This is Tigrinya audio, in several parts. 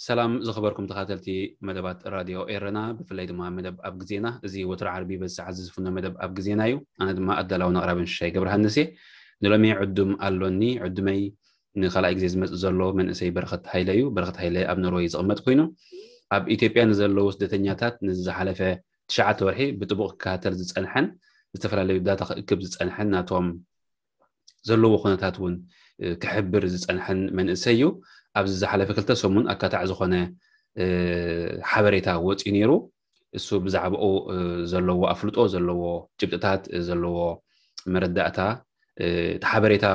ሰላም ዝኸበርኩም ተኻተልቲ መደባት ራድዮ ኤረና፣ ብፍላይ ድማ መደብ ኣብ ግዜና። እዚ ወትሮ ዓርቢ በዚ ሰዓት ዝዝፍኖ መደብ ኣብ ግዜና እዩ። ኣነ ድማ ኣዳላውን ኣቕራብን ሽሻይ ገብረሃንስ እየ። ንሎሚ ዕዱም ኣሎኒ። ዕዱመይ ንኻልኣይ ግዜ ዝመጽእ ዘሎ መንእሰይ በረኸት ሃይለ እዩ። በረኸት ሃይለ ኣብ ኖርወይ ዝቕመጥ ኮይኑ፣ ኣብ ኢትዮጵያ ንዘለዉ ስደተኛታት ንዝሓለፈ ትሽዓተ ወርሒ ብጥቡቕ ክከታተል ዝጸንሐን ዝተፈላለዩ ዳታ ክእክብ ዝጸንሐን ናቶም ዘለዎ ኩነታት እውን ክሕብር ዝጸንሐን መንእሰይ እዩ። ኣብዚ ዝሓለፈ ክልተ ሰሙን ኣካታዕ ዝኾነ ሓበሬታ ወፂኡ ነይሩ። እሱ ብዛዕባኡ ዘለዎ ኣፍልጦ፣ ዘለዎ ጭብጥታት፣ ዘለዎ መረዳእታ፣ እቲ ሓበሬታ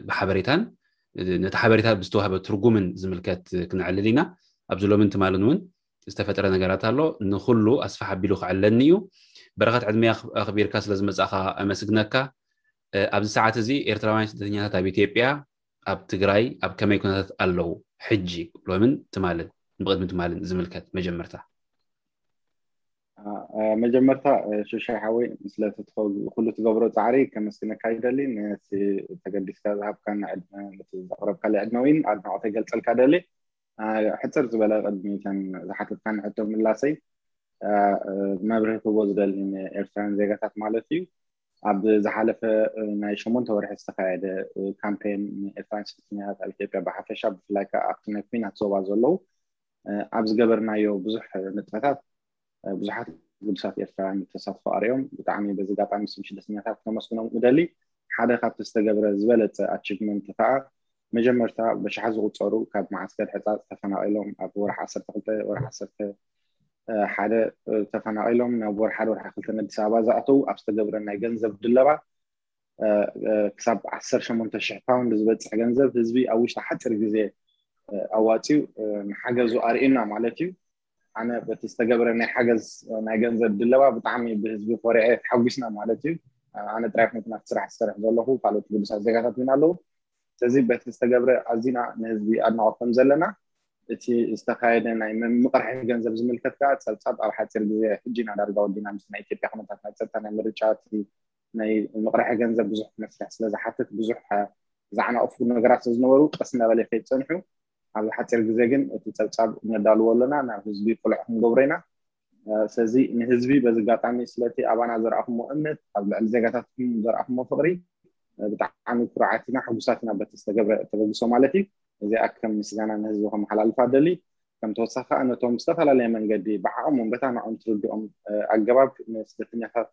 ብሓበሬታን ነቲ ሓበሬታ ብዝተዋህበ ትርጉምን ዝምልከት ክነዕልል ኢና። ኣብዚ ሎምን ትማልን እውን ዝተፈጠረ ነገራት ኣሎ። ንኹሉ ኣስፋሕ ኣቢሉ ክዕለኒ እዩ። በረኸት፣ ዕድመ ኣኽቢርካ ስለ ዝመጻእካ ኣመስግነካ። ኣብዚ ሰዓት እዚ ኤርትራውያን ስደተኛታት ኣብ ኢትዮጵያ፣ ኣብ ትግራይ ኣብ ከመይ ኩነታት ኣለዉ? ሕጂ ሎምን ትማልን፣ ንቕድሚ ትማልን ዝምልከት መጀመርታ። መጀመርታ ሽሻይ ሓወይ፣ ስለቲ ኩሉ ትገብሮ ፃዕሪ ከመስግነካ ይደሊ። ነቲ ተገዲስካ ዝሃብካን ነቲ ዘቕረብካለይ ዕድመ እውን ኣድናቖተይ ገልፀልካ ደሊ። ሕፅር ዝበለ ቅድሚ ተን ዝሓተትካን ሕቶ ምላሰይ መብርሂ ክህቦ ዝደሊ ንኤርትራውያን ዜጋታት ማለት እዩ። ኣብ ዝሓለፈ ናይ ሸሞንተ ወርሒ ዝተኻየደ ካምፔን ንኤርትራውያን ስደተኛታት ኣብ ኢትዮጵያ ብሓፈሻ፣ ብፍላይ ከዓ ኣብቲ ናይ ኩናት ዞባ ዘለዉ ኣብ ዝገበርናዮ ብዙሕ ንጥፈታት ብዙሓት ግዱሳት ኤርትራውያን ተሳትፎ ኣርእዮም። ብጣዕሚ በዚ ኣጋጣሚ ስም ስደተኛታት ከመስግኖም እደሊ። ሓደ ካብቲ ዝተገብረ ዝበለጸ ኣቺቭመንት ከዓ መጀመርታ ብሽሓት ዝቑጸሩ ካብ መዓስከር ሕጻጽ ተፈናቒሎም ኣብ ወርሒ ዓሰርተ ክልተ፣ ወርሒ ዓሰርተ ሓደ ተፈናቒሎም ናብ ወርሒ ሓደ፣ ወርሒ ክልተ ኣዲስ ኣበባ ዝኣተዉ ኣብ ዝተገብረ ናይ ገንዘብ ድለባ ክሳብ ዓሰርተ ሸሞንተ ሽሕ ፓውንድ ዝበፅሕ ገንዘብ ህዝቢ ኣብ ውሽጢ ሓፂር ግዜ ኣዋፂኡ ንሓገዙ ኣርእዩና ማለት እዩ። ኣነ በቲ ዝተገብረ ናይ ሓገዝ ናይ ገንዘብ ድለባ ብጣዕሚ ብህዝቢ ኮሪዐ ተሓጒስና ማለት እዩ። ኣነ ጥራይ ኩነት ናብቲ ስራሕ ዝሰርሕ ዘለኹ፣ ካልኦት ግዱሳት ዜጋታት እውን ኣለዉ። ስለዚ በቲ ዝተገብረ ኣዚና ንህዝቢ ኣድናቖት ከም ዘለና፣ እቲ ዝተኻየደ ናይ ምቕራሕ ገንዘብ ዝምልከት ከዓ ፀብፃብ ኣብ ሓፂር ግዜ ሕጂ ኢና ዳርጋ ወዲና። ምስ ናይ ኢትዮጵያ ኩነታት ናይ ፀጥታ ናይ ምርጫ እቲ ናይ ምቕራሕ ገንዘብ ብዙሕ መስርሕ ስለ ዝሓትት ብዙሕ ዘዓናቕፉ ነገራት ስለ ዝነበሩ ቀስ እናበለ ከይፀንሑ ኣብ ሓፂር ግዜ ግን እቲ ፀብፃብ ነዳልዎ ኣለና፣ ናብ ህዝቢ ቅሉዕ ክንገብሮ ኢና። ስለዚ ንህዝቢ በዚ ኣጋጣሚ ስለቲ ኣባና ዘርኣኹሞ እምነት፣ ኣብ ልዕሊ ዜጋታትኩም ዘርኣኹሞ ፍቕሪ ብጣዕሚ ኩሩዓት ኢና፣ ሕጉሳት ኢና በቲ ዝተገብረ ተበግሶ ማለት እዩ። እዚኣ ከም ምስጋና ንህዝቢ ከመሓላልፋ ደሊ። ከም ተወሳኺ ከዓ ነቶም ዝተፈላለየ መንገዲ ብዓቕሞም በታ ንዖም ትርድኦም ኣገባብ ንስደተኛታት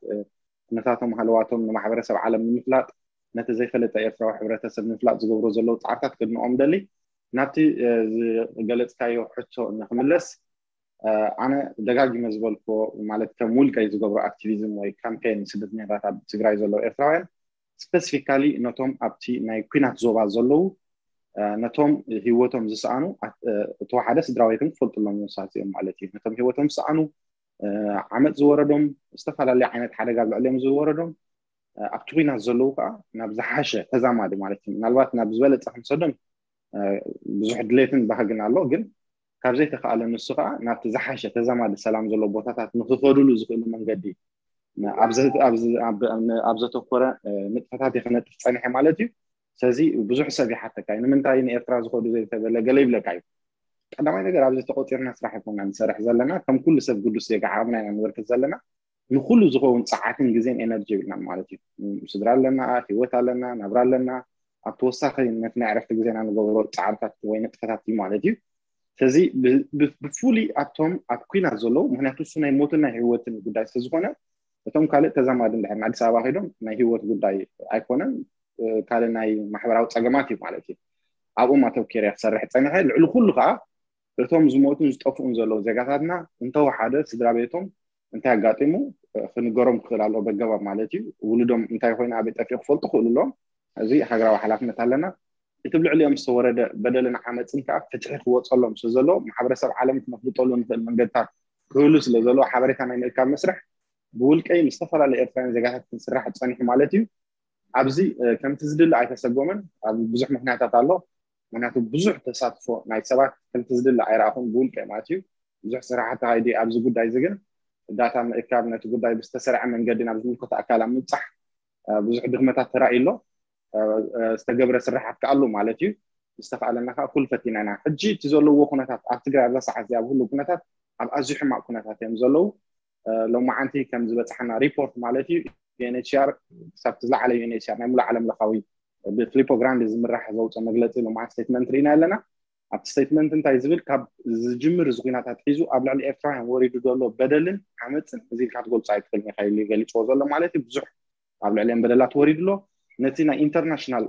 ኩነታቶም ሃለዋቶም ንማሕበረሰብ ዓለም ንምፍላጥ ነቲ ዘይፈለጠ ኤርትራዊ ሕብረተሰብ ንምፍላጥ ዝገብሮ ዘለዉ ፃዕርታት ከድንቖም ደሊ። ናብቲ ዝገለፅካዮ ሕቶ ንክምለስ፣ ኣነ ደጋጊመ ዝበልክዎ ማለት ከም ውልቀይ ዝገብሮ ኣክቲቪዝም ወይ ካምፔን ስደተኛታት ኣብ ትግራይ ዘለዉ ኤርትራውያን ስፐሲፊካሊ ነቶም ኣብቲ ናይ ኩናት ዞባ ዘለዉ ነቶም ህይወቶም ዝሰኣኑ እተወሓደ ስድራ ቤቶም ክፈልጡ ኣለዎም መሳት እዮም ማለት እዩ። ነቶም ህይወቶም ዝሰኣኑ ዓመፅ ዝወረዶም ዝተፈላለዩ ዓይነት ሓደጋ ኣብ ልዕሊኦም ዝወረዶም ኣብቲ ኩናት ዘለዉ ከዓ ናብ ዝሓሸ ተዛማዲ ማለት እዩ ምናልባት ናብ ዝበለፀ ክንሰዶም ብዙሕ ድሌትን ባህግን ኣሎ። ግን ካብ ዘይተኸኣለ ንሱ ከዓ ናብቲ ዝሓሸ ተዛማዲ ሰላም ዘለዎ ቦታታት ንክኸዱሉ ዝኽእሉ መንገዲ ኣብ ዘተኮረ ንጥፈታት ክነጥፍ ፀኒሐ ማለት እዩ። ስለዚ ብዙሕ ሰብ ይሓተካ እዩ ንምንታይ ንኤርትራ ዝኸዱ ዘይተበለ ገለ ይብለካ እዩ። ቀዳማይ ነገር ኣብዚ ተቆፂርና ስራሕ ይኮና ንሰርሕ ዘለና ከም ኩሉ ሰብ ግዱስ ዜጋ ዓቕምና ኢና ንበርክት ዘለና። ንኩሉ ዝኸውን ፀዓትን ግዜን ኤነርጂ ይብልናን ማለት እዩ። ስድራ ኣለና፣ ሂወት ኣለና፣ ናብራ ኣለና። ኣብ ተወሳኺ ነቲ ናይ ዕረፍቲ ግዜና ንገብሮ ፃዕርታት ወይ ንጥፈታት እዩ ማለት እዩ። ስለዚ ብፍሉይ ኣብቶም ኣብ ኩናት ዘለዉ ምክንያቱ እሱ ናይ ሞትን ናይ ሂወትን ጉዳይ ስለዝኮነ እቶም ካልእ ተዛማዲ እንድሕር ንኣዲስ ኣበባ ከይዶም ናይ ሂወት ጉዳይ ኣይኮነን። ካልእ ናይ ማሕበራዊ ፀገማት እዩ ማለት እዩ። ኣብኦም ኣተኪረ ክሰርሕ ፀኒሐ ልዕሊ ኩሉ ከዓ እቶም ዝሞቱን ዝጠፍኡን ዘለዉ ዜጋታትና እንተወሓደ ስድራ ቤቶም እንታይ ኣጋጢሙ ክንገሮም ክኽእል ኣለዎ በገባብ ማለት እዩ። ውሉዶም እንታይ ኮይኑ ኣበይ ጠፊኡ ክፈልጡ ክኽእሉ ኣለዎም። እዚ ሃገራዊ ሓላፍነት ኣለና። እቲ ብልዕሊኦም ዝተወረደ በደልን ዓመፅን ከዓ ፍትሒ ክወፀሎም ስለ ዘለዎ ማሕበረሰብ ዓለም ክነፍልጠሉ ንኽእል መንገድታት ክህሉ ስለ ዘለዎ ሓበሬታ ናይ ምእካብ መስርሕ ብውልቀይ ምስ ዝተፈላለዩ ኤርትራውያን ዜጋታት ክስራሕ ፀኒሑ ማለት እዩ። ኣብዚ ከምቲ ዝድለ ኣይተሰጎመን። ኣብ ብዙሕ ምክንያታት ኣሎ። ምክንያቱ ብዙሕ ተሳትፎ ናይ ሰባት ከምቲ ዝድለ ኣይረኣኹን ብውልቀይ ማለት እዩ። ብዙሕ ስራሕቲ ካይዲ ኣብዚ ጉዳይ እዚ ግን ዳታ ምእካብ ነቲ ጉዳይ ብዝተሰርዐ መንገዲ ናብ ዝምልከቶ ኣካል ኣብ ምብፃሕ ብዙሕ ድክመታት ተራእዩ ኣሎ። ዝተገብረ ስራሓት ከኣሉ ማለት እዩ። ዝተኽኣለና ከዓ ኩል ፈቲና ኢና። ሕጂ እቲ ዘለዎ ኩነታት ኣብ ትግራይ ኣብዛ ሰዓት እዚ ኣብ ህሉ ኩነታት ኣብ ኣዝዩ ሕማቅ ኩነታት እዮም ዘለዉ። ሎማዓንቲ ከም ዝበፅሓና ሪፖርት ማለት እዩ ዩኤንኤችሲኣር ክሳብ ዝለዓለ ዩኤንኤችሲኣር ናይ ሙሉእ ዓለም ለኻዊ ብፊሊፖ ግራንዲ ዝምራሕ ዘውፅኦ መግለፂ ሎማዓንቲ ስቴትመንት ርኢና ኣለና። ኣብቲ ስቴትመንት እንታይ ዝብል ካብ ዝጅምር እዚ ኩናታት ሒዙ ኣብ ልዕሊ ኤርትራውያን ወሪዱ ዘሎ በደልን ዓመፅን እዚ ኢልካ ትገልፆ ኣይትኽእልን ኢኻ ኢሉ ገሊፅዎ ዘሎ ማለት እዩ። ብዙሕ ኣብ ልዕሊኦም በደላት ወሪዱ ኣሎ። ነቲ ናይ ኢንተርናሽናል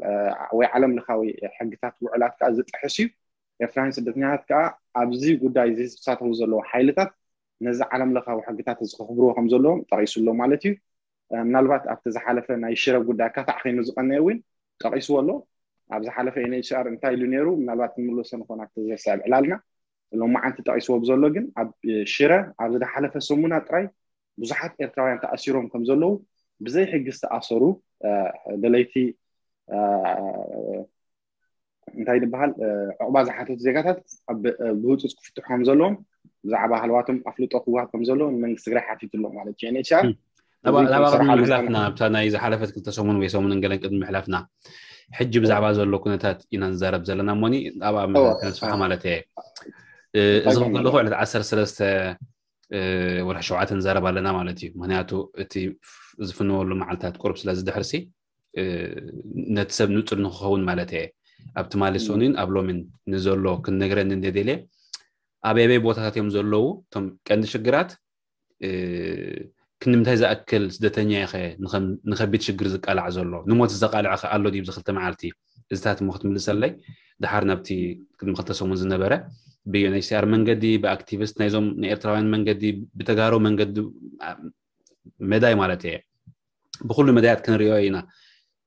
ወይ ዓለም ለኻዊ ሕግታት ውዕላት ከዓ ዝጥሕስ እዩ። ኤርትራውያን ስደተኛታት ከዓ ኣብዚ ጉዳይ እዚ ዝሳተፉ ዘለዉ ሓይልታት ነዚ ዓለም ለኻዊ ሕግታት እዚ ከኽብርዎ ከም ዘለዎም ጠቒሱ ኣሎ ማለት እዩ። ምናልባት ኣብቲ ዝሓለፈ ናይ ሽረ ጉዳይ ኣካታዕ ኮይኑ ዝቐነየ እውን ጠቒስዎ ኣሎ። ኣብ ዝሓለፈ ኤንኤችሲኣር እንታይ ኢሉ ነይሩ ምናልባት ንምልሶ ንኾን ኣብቲ ዘስዕብ ዕላልና ሎማዓንቲ ጠቒስዎ ብዘሎ ግን ኣብ ሽረ ኣብ ዝሓለፈ ሰሙና ጥራይ ብዙሓት ኤርትራውያን ተኣሲሮም ከም ዘለዉ ብዘይ ሕጊ ዝተኣሰሩ ደለይቲ እንታይ ዝበሃል ዕቑባ ዝሓተቱ ዜጋታት ብህፁፅ ክፍትሑ ከም ዘለዎም ብዛዕባ ሃለዋቶም ኣፍልጦ ክወሃብ ከም ዘለዎ ንመንግስቲ ትግራይ ሓቲቱ ኣሎ ማለት እዩ። ኤንኤችሲኣር ናብኣ ቅድሚ ምሕላፍና ኣብታ ናይ ዝሓለፈት ክልተ ሰሙን ወይ ሰሙንን ገለን ቅድሚ ምሕላፍና ሕጂ ብዛዕባ ዘሎ ኩነታት ኢና ንዛረብ ዘለና እሞኒ ኣብኣ ተስፋ ማለት እየ። እዚ ከለኹ ዕለት ዓሰርተ ሰለስተ ወርሒ ሸውዓተ ንዛረብ ኣለና ማለት እዩ። ምክንያቱ እቲ ዝፍነወሉ መዓልታት ቁሩብ ስለ ዝድሕርሲ ነቲ ሰብ ንፁር ንክኸውን ማለት እየ። ኣብ ትማሊ ሰኑን ኣብ ሎሚን ንዘሎ ክንነግረኒ እንደደልየ ኣበይ ኣበይ ቦታታት እዮም ዘለዉ እቶም ቀንዲ ሽግራት ክንምንታይ ዝኣክል ስደተኛ ኢኸ ንኸቢድ ሽግር ዝቃላዕ ዘሎ ንሞት ዘቃልዐ ከ ኣሎ ድዩ ብዚ ክልተ መዓልቲ እዚታት እሞ ክትምልሰለይ ድሓር ናብቲ ቅድሚ ክልተ ሰሙን ዝነበረ ብዩኤንኤችሲኣር መንገዲ ብኣክቲቪስት ናይዞም ንኤርትራውያን መንገዲ ብተጋሩ መንገዲ መዳይ ማለት እየ ብኩሉ መዳያት ክንሪኦ ኢና።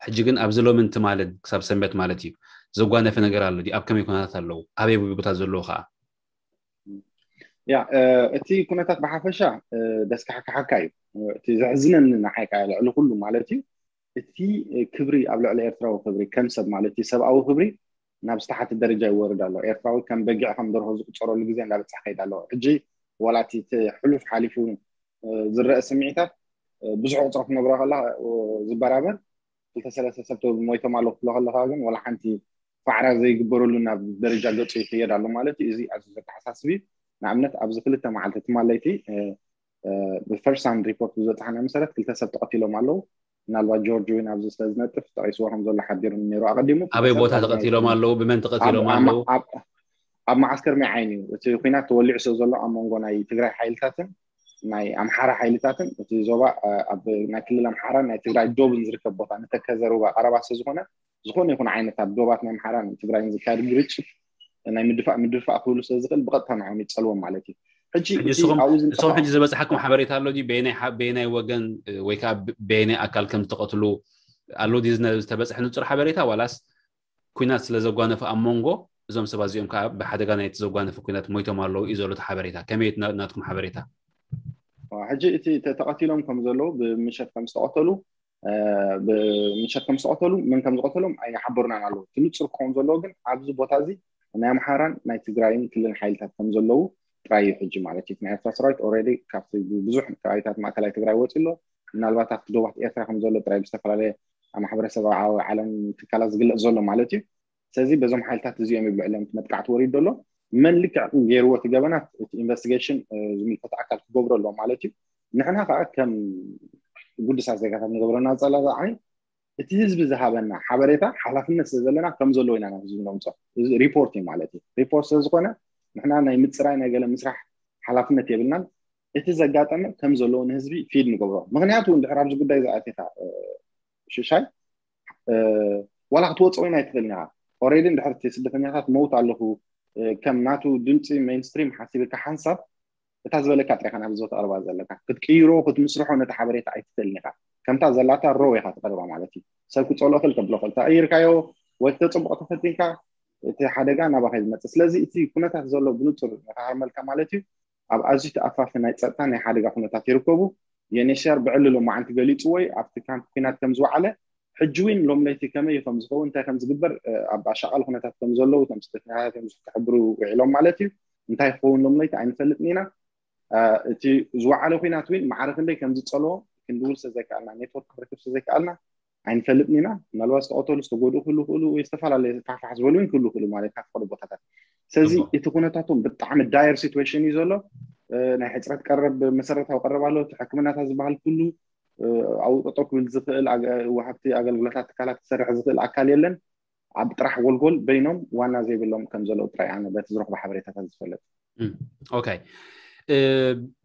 ሕጂ ግን ኣብዚ ሎምን ትማልን ክሳብ ሰንበት ማለት እዩ ዘጓነፈ ነገር ኣሎ ድዩ? ኣብ ከመይ ኩነታት ኣለዉ? ኣበይ ቦታ ዘለዉ ከዓ? ያ እቲ ኩነታት ብሓፈሻ ደስካሕካሓካ እዩ። እቲ ዘሕዝነኒ ንዓይ ከዓ ልዕሊ ኩሉ ማለት እዩ እቲ ክብሪ ኣብ ልዕሊ ኤርትራዊ ክብሪ ከም ሰብ ማለት እዩ ሰብኣዊ ክብሪ ናብ ዝተሓተ ደረጃ ይወርድ ኣሎ። ኤርትራዊ ከም በጊዕ ከም ደርሆ ዝቁፀረሉ ግዜ እንዳበፅሕ ከይድ ኣለዎ። ሕጂ ዋላ እቲ ሕሉፍ ሓሊፉ ዝረአ ስምዒታት ብዙሕ ቁፅሪ ክነግሮ ከላ ዝበራበር ክልተ ሰለስተ ሰብ ሞይቶም ኣለዉ ክብሎ ከለካ ግን ዋላ ሓንቲ ፋዕራ ዘይግበረሉ ናብ ደረጃ ገፁ ይክየድ ኣሎ ማለት እዩ። እዚ ኣዚ ዘተሓሳስብ እዩ። ንኣብነት ኣብዚ ክልተ መዓልቲ ትማለይቲ ብፈርስት ሃንድ ሪፖርት ዝበፅሓና መሰረት ክልተ ሰብ ተቐቲሎም ኣለዉ። ምናልባት ጆርጅ እውን ኣብዚ ስለ ዝነጥፍ ጠቂስዎ ከም ዘሎ ሓቢሩ ነይሩ ኣቀዲሙ። ኣበይ ቦታ ተቐቲሎም ኣለዉ? ብመን ተቐቲሎም ኣለዉ? ኣብ መዓስከር ሚዓይን እዩ እቲ ኩናት ተወሊዑ ስለ ዘሎ ኣብ መንጎ ናይ ትግራይ ሓይልታትን ናይ ኣምሓራ ሓይልታትን እቲ ዞባ ኣብ ናይ ክልል ኣምሓራን ናይ ትግራይ ዶብን ዝርከብ ቦታ ንተከዘ ሩባ ቀረባ ስለ ዝኾነ ዝኾነ ይኹን ዓይነት ኣብ ዶባት ናይ ኣምሓራን ትግራይን ዝካየድ ግርጭት ናይ ምድፋእ ምድፋእ ክህሉ ስለ ዝኽእል ብቐጥታ ንዓም ይፀልዎም ማለት እዩ። ሕጂ ንስኹም ሕጂ ዝበፅሓኩም ሓበሬታ ኣሎ ድዩ? በየናይ ወገን ወይ ከዓ በየናይ ኣካል ከም ዝተቐትሉ ኣሎ ድዩ ዝተበፅሐ ንፁር ሓበሬታ ዋላስ ኩናት ስለ ዘጓነፈ ኣብ መንጎ እዞም ሰባት እዚኦም ከዓ ብሓደጋ ናይቲ ዘጓነፈ ኩናት ሞይቶም ኣለዉ እዩ ዘሎ እቲ ሓበሬታ። ከመይ ናትኩም ሓበሬታ? ሕጂ እቲ ተቐቲሎም ከም ዘለዉ ብምሸት ከም ዝተቐተሉ ብምሸት ከም ዝተቐተሉ መን ከም ዝቐተሎም ኣይሓበሩናን ኣለዉ። እቲ ንፁር ክኸውን ዘለዎ ግን ኣብዚ ቦታ እዚ ናይ ኣምሓራን ናይ ትግራይን ክልል ሓይልታት ከም ዘለዉ ጥራይ እዩ ሕጂ ማለት እዩ። ናይ ኤርትራ ሰራዊት ኦልሬዲ ካብቲ ብዙሕ ከባቢታት ማእከላይ ትግራይ ወፂ ኣሎ። ምናልባት ኣብቲ ዶባት ኤርትራ ከም ዘሎ ጥራይ ብዝተፈላለየ ኣብ ማሕበረሰባዊ ዓለም ትካላት ዝግለፅ ዘሎ ማለት እዩ። ስለዚ በዞም ሓይልታት እዚኦም ይብሉ ዕለም መጥቃዕቲ ወሪዱ ዘሎ መን ልክዕ ገይርዎ እቲ ገበናት እቲ ኢንቨስቲጌሽን ዝምልከቶ ኣካል ክገብሮ ኣለዎ ማለት እዩ። ንሕና ከዓ ከም ጉዱሳት ዜጋታት ንገብረና ኣፀላልዓ እቲ ህዝቢ ዝሃበና ሓበሬታ ሓላፍነት ስለ ዘለና ከም ዘለዎ ኢና ናብ ህዝቢ ነምፅኦ። እዚ ሪፖርት እዩ ማለት እዩ። ሪፖርት ስለ ዝኾነ ንሕና ናይ ምፅራይ ናይ ገለ ምስራሕ ሓላፍነት የብልናን። እቲ ዘጋጠመ ከም ዘለዎ ንህዝቢ ፊድ ንገብሮ። ምክንያቱ እውን ድሕር ኣብዚ ጉዳይ ዝኣቲካ ሽሻይ ዋላ ክትወፅኦ ኢና ኣይትኽእልን ኢኻ። ኦሬዲ እንድሕር እቲ ስደተኛታት መውት ኣለኹ ከም ናቱ ድምፂ ሜንስትሪም ሓሲብካ ሓንሳብ እታ ዝበለካ ጥራይ ኢኻ ናብ ህዝቢ ተቕርባ ዘለካ። ክትቅይሮ ክትምስርሖ ነቲ ሓበሬታ ኣይትኽእልን ኢኻ። ከምታ ዘላታ ሮ ኢኻ ትቐርባ ማለት እዩ። ሰብ ክጸልኦ ክእል ከብሎ ክእል ተቐይርካዮ ወይ ተጸብቕ ተፈቲንካ እቲ ሓደጋ ናባኻ እዩ ዝመጽእ። ስለዚ እቲ ኩነታት ዘሎ ብንጹር ንክሃርመልካ ማለት እዩ። ኣብ ኣዝዩ ተኣፋፊ ናይ ጸጥታ ናይ ሓደጋ ኩነታት ይርከቡ። ዩኤንኤችሲኣር ብዕሊ ሎማዓንቲ ገሊጹ ወይ ኣብቲ ካምፕ ኩናት ከም ዝወዓለ ሕጂ እውን ሎም ለይቲ ከመይ ከም ዝኸውን እንታይ ከም ዝግበር ኣብ ኣሻቓል ኩነታት ከም ዘለዉ እቶም ስደተኛታት እዮም ዝሕብሩ ውዒሎም ማለት እዩ። እንታይ ክኸውን ሎም ለይቲ ኣይንፈልጥን ኢና። እቲ ዝወዓለ ኩናት እውን ማዕረ ክንደይ ከም ዝጸልዎ ክንድውል ስለ ዘይከኣልና ኔትወርክ ክረክብ ስለ ዘይከኣልና ኣይንፈልጥን ኢና። ምናልባት ዝተቐተሉ ዝተጎድኡ ክህሉ ይኽእሉ ወይ ዝተፈላለዩ ፋሕፋሕ ዝበሉ እውን ክህሉ ይኽእሉ ማለት ካብ ፈቐዶ ቦታታት። ስለዚ እቲ ኩነታቶም ብጣዕሚ ዳየር ሲትዌሽን እዩ ዘሎ። ናይ ሕፅረት ቀረብ መሰረታዊ ቀረብ ኣሎ። እቲ ሕክምናታት ዝበሃል ኩሉ ኣብኡ ጠጠው ክብል ዝኽእል ወሃብቲ ኣገልግሎታት ትካላት ክሰርሕ ዝኽእል ኣካል የለን። ኣብ ጥራሕ ጎልጎል በይኖም ዋና ዘይብሎም ከም ዘለዉ ጥራይ ኣነ በቲ ዝረኽቦ ሓበሬታታት ዝፈልጥ። ኦኬ፣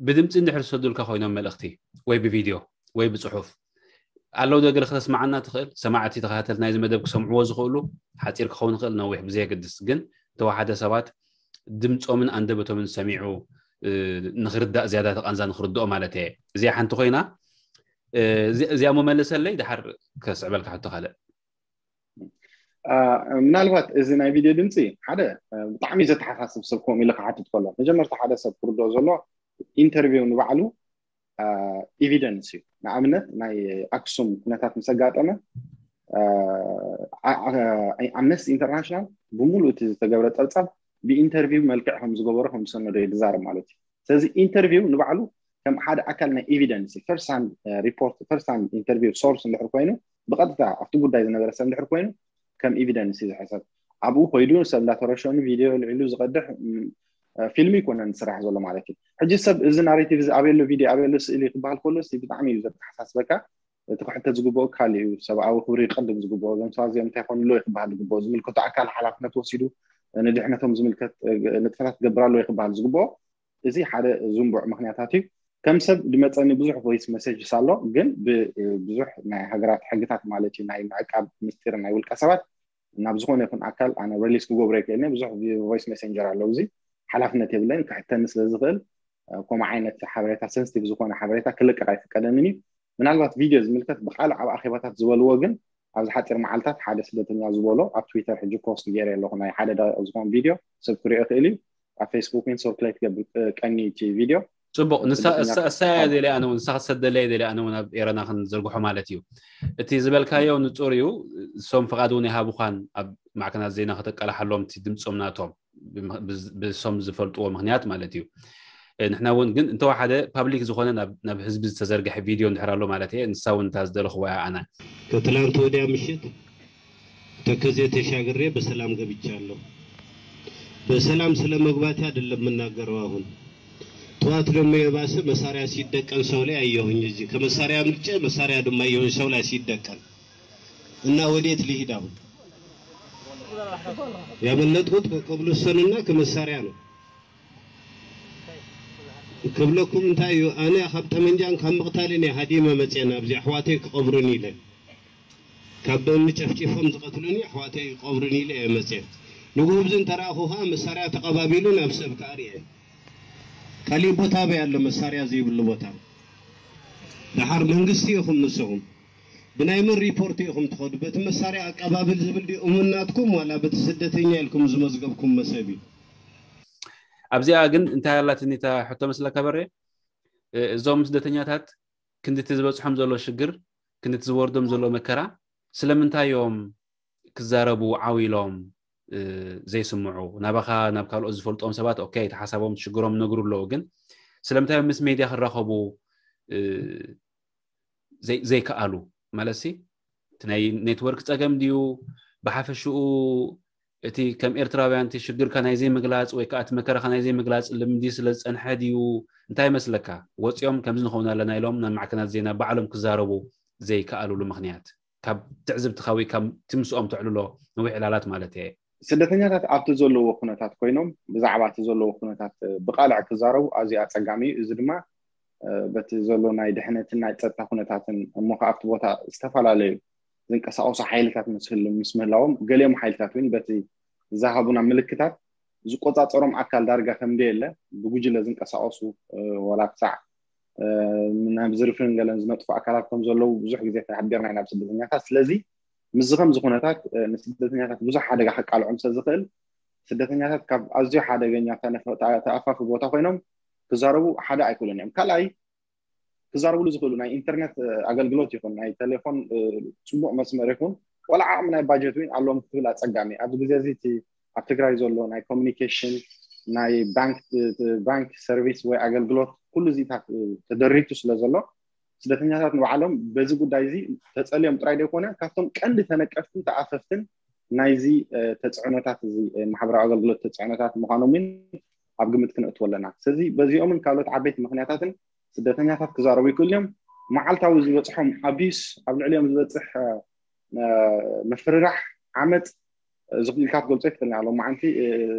ብድምፂ እንድሕር ዝሰዱልካ ኮይኖም መልእኽቲ ወይ ብቪድዮ ወይ ብፅሑፍ ኣለዉ ዶ ገለ ክተስማዓና ትኽእል? ሰማዕቲ ተኸታተልቲ ናይዚ መደብ ክሰምዕዎ ዝኽእሉ ሓፂር ክኸውን ይኽእል ነዊሕ ብዘየገድስ ግን ተዋሓደ ሰባት ድምፆምን ኣንደበቶምን ሰሚዑ ንክርዳእ ዝያዳ ተቃንዛ ንክርድኦ ማለት እየ። እዚኣ ሓንቲ ኮይና እዚኣ ሞ መለሰለይ ድሓር ከስዕበልካ ሕቶ ካልእ ምናልባት እዚ ናይ ቪድዮ ድምፂ ሓደ ብጣዕሚ ዘተሓሳስብ ሰብ ከምኡ ኢሉ ክሓትት ከሎ መጀመርታ ሓደ ሰብ ክርድኦ ዘሎ ኢንተርቪው ንባዕሉ ኤቪደንስ እዩ። ንኣብነት ናይ ኣክሱም ኩነታት ምስ ኣጋጠመ ኣምነስቲ ኢንተርናሽናል ብምሉእ እቲ ዝተገብረ ፀብፃብ ብኢንተርቪው መልክዕ ከም ዝገበሮ ከም ዝሰነዶ እዩ ዝዛረብ ማለት እዩ። ስለዚ ኢንተርቪው ንባዕሉ ከም ሓደ ኣካል ናይ ኤቪደንስ ፈርስት ሃንድ ሪፖርት ፈርስት ሃንድ ኢንተርቪው ሶርስ እንድሕር ኮይኑ ብቐጥታ ኣብቲ ጉዳይ ዝነበረ ሰብ እንድሕር ኮይኑ ከም ኤቪደንስ እዩ ዝሕሰብ። ኣብኡ ኮይዱ ሰብ እንዳተረሸኑ ቪድዮ ልዕሉ ዝቐድሕ ፊልም ይኮነን ዝስራሕ ዘሎ ማለት እዩ። ሕጂ ሰብ እዚ ናሬቲቭ እዚ ኣበየሎ ቪድዮ ኣበየሎ ስእሊ ክበሃል ከሎ ብጣዕሚ እዩ ዘተሓሳስበካ። እቲ ክሕተት ዝግብኦ ካልእ እዩ። ሰብኣዊ ክብሪ ይቀድም ዝግብኦ እዞም ሰባት እዚኦም እንታይ ኮኑ ኣሎ ክበሃል ዝግብኦ ዝምልከቶ ኣካል ሓላፍነት ወሲዱ ንድሕነቶም ዝምልከት ንጥፈታት ክገብር ኣሎ ክበሃል ዝግብኦ እዚ ሓደ ዝንቡዕ ምክንያታት እዩ። ከም ሰብ ዝመፀኒ ብዙሕ ቮይስ መሴጅስ ኣሎ ግን ብዙሕ ናይ ሃገራት ሕግታት ማለት እዩ ናይ ምዕቃብ ምስጢር ናይ ውልቀ ሰባት ናብ ዝኾነ ይኹን ኣካል ኣነ ሪሊስ ክገብሮ ይክእል ብዙሕ ቮይስ ሜሴንጀር ኣለዉ እዚ ሓላፍነት የብለይን ክሕተኒ ስለ ዝኽእል ከምኡ ዓይነት ሓበሬታ ሰንስቲቭ ዝኾነ ሓበሬታ ክልቀቕ ኣይፍቀደንን እዩ። ምናልባት ቪድዮ ዝምልከት ብቃልዕ ኣብ ኣኼባታት ዝበልዎ ግን ኣብዚ ሓፂር መዓልታት ሓደ ስደተኛ ዝበሎ ኣብ ትዊተር ሕጂ ፖስት ገይረ ኣለኹ ናይ ሓደ ደቂቕ ዝኾን ቪድዮ ሰብ ክሪኦ ይኽእል እዩ። ኣብ ፌስቡክ ን ሰርኩሌት ገብር ቀኒ እቲ ቪድዮ ፅቡቅ ንሳ እያ ደልያ ኣነ እውን ንሳ ክትሰደለይ ደልያ ኣነ እውን ኣብ ኤረና ክንዘርግሖ ማለት እዩ። እቲ ዝበልካዮ ንፁር እዩ። እሶም ፍቓድ እውን ይሃቡኻን ኣብ ማዕከናት ዜና ከተቀላሓሎም እቲ ድምፆም ናቶም ብሶም ዝፈልጥዎ ምክንያት ማለት እዩ። ንሕና እውን ግን እንተወሓደ ፓብሊክ ዝኾነ ናብ ህዝቢ ዝተዘርግሐ ቪድዮ እንድሕር ኣሎ ማለት እየ ንሳ እውን እታ ዝደለኽዎ እያ ኣነ ከትላንት ወዲያ ምሽት ተከዜ ተሻግሬ በሰላም ገብቻለሁ። በሰላም ስለ መግባቴ አይደለም የምናገረው አሁን። ጠዋት ደግሞ የባሰ መሳሪያ ሲደቀን ሰው ላይ አየሁኝ። እዚህ ከመሳሪያ አምልጬ መሳሪያ ደግሞ አየሁኝ ሰው ላይ ሲደቀን እና ወዴት ልሂድ አሁን? ያመለጥኩት ከኮብልስቶንና ከመሳሪያ ነው። ክብለኩም እንታይ እዩ ኣነ ካብ ጠመንጃን ካብ ምቕታልን እየ ሃዲመ መፅየ ናብዚ ኣሕዋተይ ክቐብሩን ኢለ ካብ በኒ ጨፍጪፎም ዝቐትሉኒ ኣሕዋተይ ክቐብሩኒ ኢለ እየ መፅየ። ንጉህብዚ እንተረኣኹ ከዓ መሳርያ ተቐባቢሉ ናብ ሰብ ከዓ ርየ። ካሊእ ቦታ ኣበይ ኣሎ መሳርያ ዘይብሉ ቦታ? ደሓር መንግስቲ ኢኹም ንስኹም ብናይ መን ሪፖርት ኢኹም ትኸዱ? በቲ መሳርያ ኣቀባብል ዝብል ድዩ እሙን ናትኩም ዋላ በቲ ስደተኛ ኢልኩም ዝመዝገብኩም መሰብ እዩ? ኣብዚኣ ግን እንታይ ኣላትኒ እታ ሕቶ መስለካ በሬ? እዞም ስደተኛታት ክንድቲ ዝበፅሖም ዘሎ ሽግር ክንድቲ ዝወርዶም ዘሎ መከራ ስለምንታይ እዮም ክዛረቡ ዓው ኢሎም ዘይስምዑ? ናባኻ ናብ ካልኦት ዝፈልጦም ሰባት ኦኬ እቲ ሓሳቦም ሽግሮም ነግሩ ኣለዉ ግን ስለምንታይ እዮም ምስ ሜድያ ክራኸቡ ዘይከኣሉ ማለት ሲ እቲ ናይ ኔትወርክ ፀገም ድዩ ብሓፈሽኡ እቲ ከም ኤርትራውያን እቲ ሽግርካ ናይ ዘይምግላፅ ወይ ከዓ እቲ መከራካ ናይ ዘይምግላፅ ልምዲ ስለ ዝፀንሐ ድዩ እንታይ ይመስለካ ወፂኦም ከምዚ ንኸውን ኣለና ኢሎም ናብ ማዕከናት ዜና ባዕሎም ክዛረቡ ዘይከኣሉሉ ምክንያት ካብ ትዕዝብትካ ወይ ካብ ትምስኦም ተዕልሎ ነዊሕ ዕላላት ማለት እየ ስደተኛታት ኣብቲ ዘለዎ ኩነታት ኮይኖም ብዛዕባ እቲ ዘለዎ ኩነታት ብቃልዕ ክዛረቡ ኣዝዩ ኣፀጋሚ እዩ እዚ ድማ በቲ ዘሎ ናይ ድሕነትን ናይ ፀጥታ ኩነታትን እሞ ከ ኣብቲ ቦታ ዝተፈላለዩ ዝንቀሳቀሱ ሓይልታት ምስ ምህላዎም ገሊኦም ሓይልታት እውን በቲ ዝሃቡና ምልክታት ዝቆፃፀሮም ኣካል ዳርጋ ከም ደየለ፣ ብጉጅለ ዝንቀሳቀሱ፣ ወላ ክሳዕ ናብ ዝርፍን ገለን ዝነጥፉ ኣካላት ከም ዘለዉ ብዙሕ ግዜ ተሓቢርና ኢና ብስደተኛታት። ስለዚ ምስዚ ከምዚ ኩነታት ንስደተኛታት ብዙሕ ሓደጋ ከቃልዖም ስለ ዝኽእል፣ ስደተኛታት ካብ ኣዝዩ ሓደገኛ ተኣፋፊ ቦታ ኮይኖም ክዛረቡ ሓደ ኣይክእሉን እዮም። ካልኣይ፣ ክዛረብሉ ዝኽእሉ ናይ ኢንተርነት ኣገልግሎት ይኹን ናይ ቴሌፎን ፅቡቅ መስመር ይኹን፣ ዋላ ዓቕሚ ናይ ባጀት እውን ኣለዎም ክትብል ኣፀጋሚ። ኣብዚ ግዜ እዚ እቲ ኣብ ትግራይ ዘሎ ናይ ኮሚኒኬሽን፣ ናይ ባንክ ሰርቪስ ወይ ኣገልግሎት፣ ኩሉ እዚታት ተደሪቱ ስለ ዘሎ፣ ስደተኛታት ንባዕሎም በዚ ጉዳይ እዚ ተፀልዮም ጥራይ ዘይኮነ ካብቶም ቀንዲ ተነቀፍትን ተኣፈፍትን ናይዚ ተፅዕኖታት እዚ፣ ማሕበራዊ ኣገልግሎት ተፅዕኖታት ምዃኖም እውን ኣብ ግምት ክነእትዎ ኣለና። ስለዚ በዚኦምን ካልኦት ዓበይቲ ምክንያታትን ስደተኛታት ክዛረቡ ይክእሉ እዮም። መዓልታዊ ዝበፅሖም ኣቢዩስ፣ ኣብ ልዕሊኦም ዝበፅሕ ምፍርራሕ፣ ዓመፅ፣ እዚ ኢልካ ክትገልፆ ይትኽእል። ሎማዓንቲ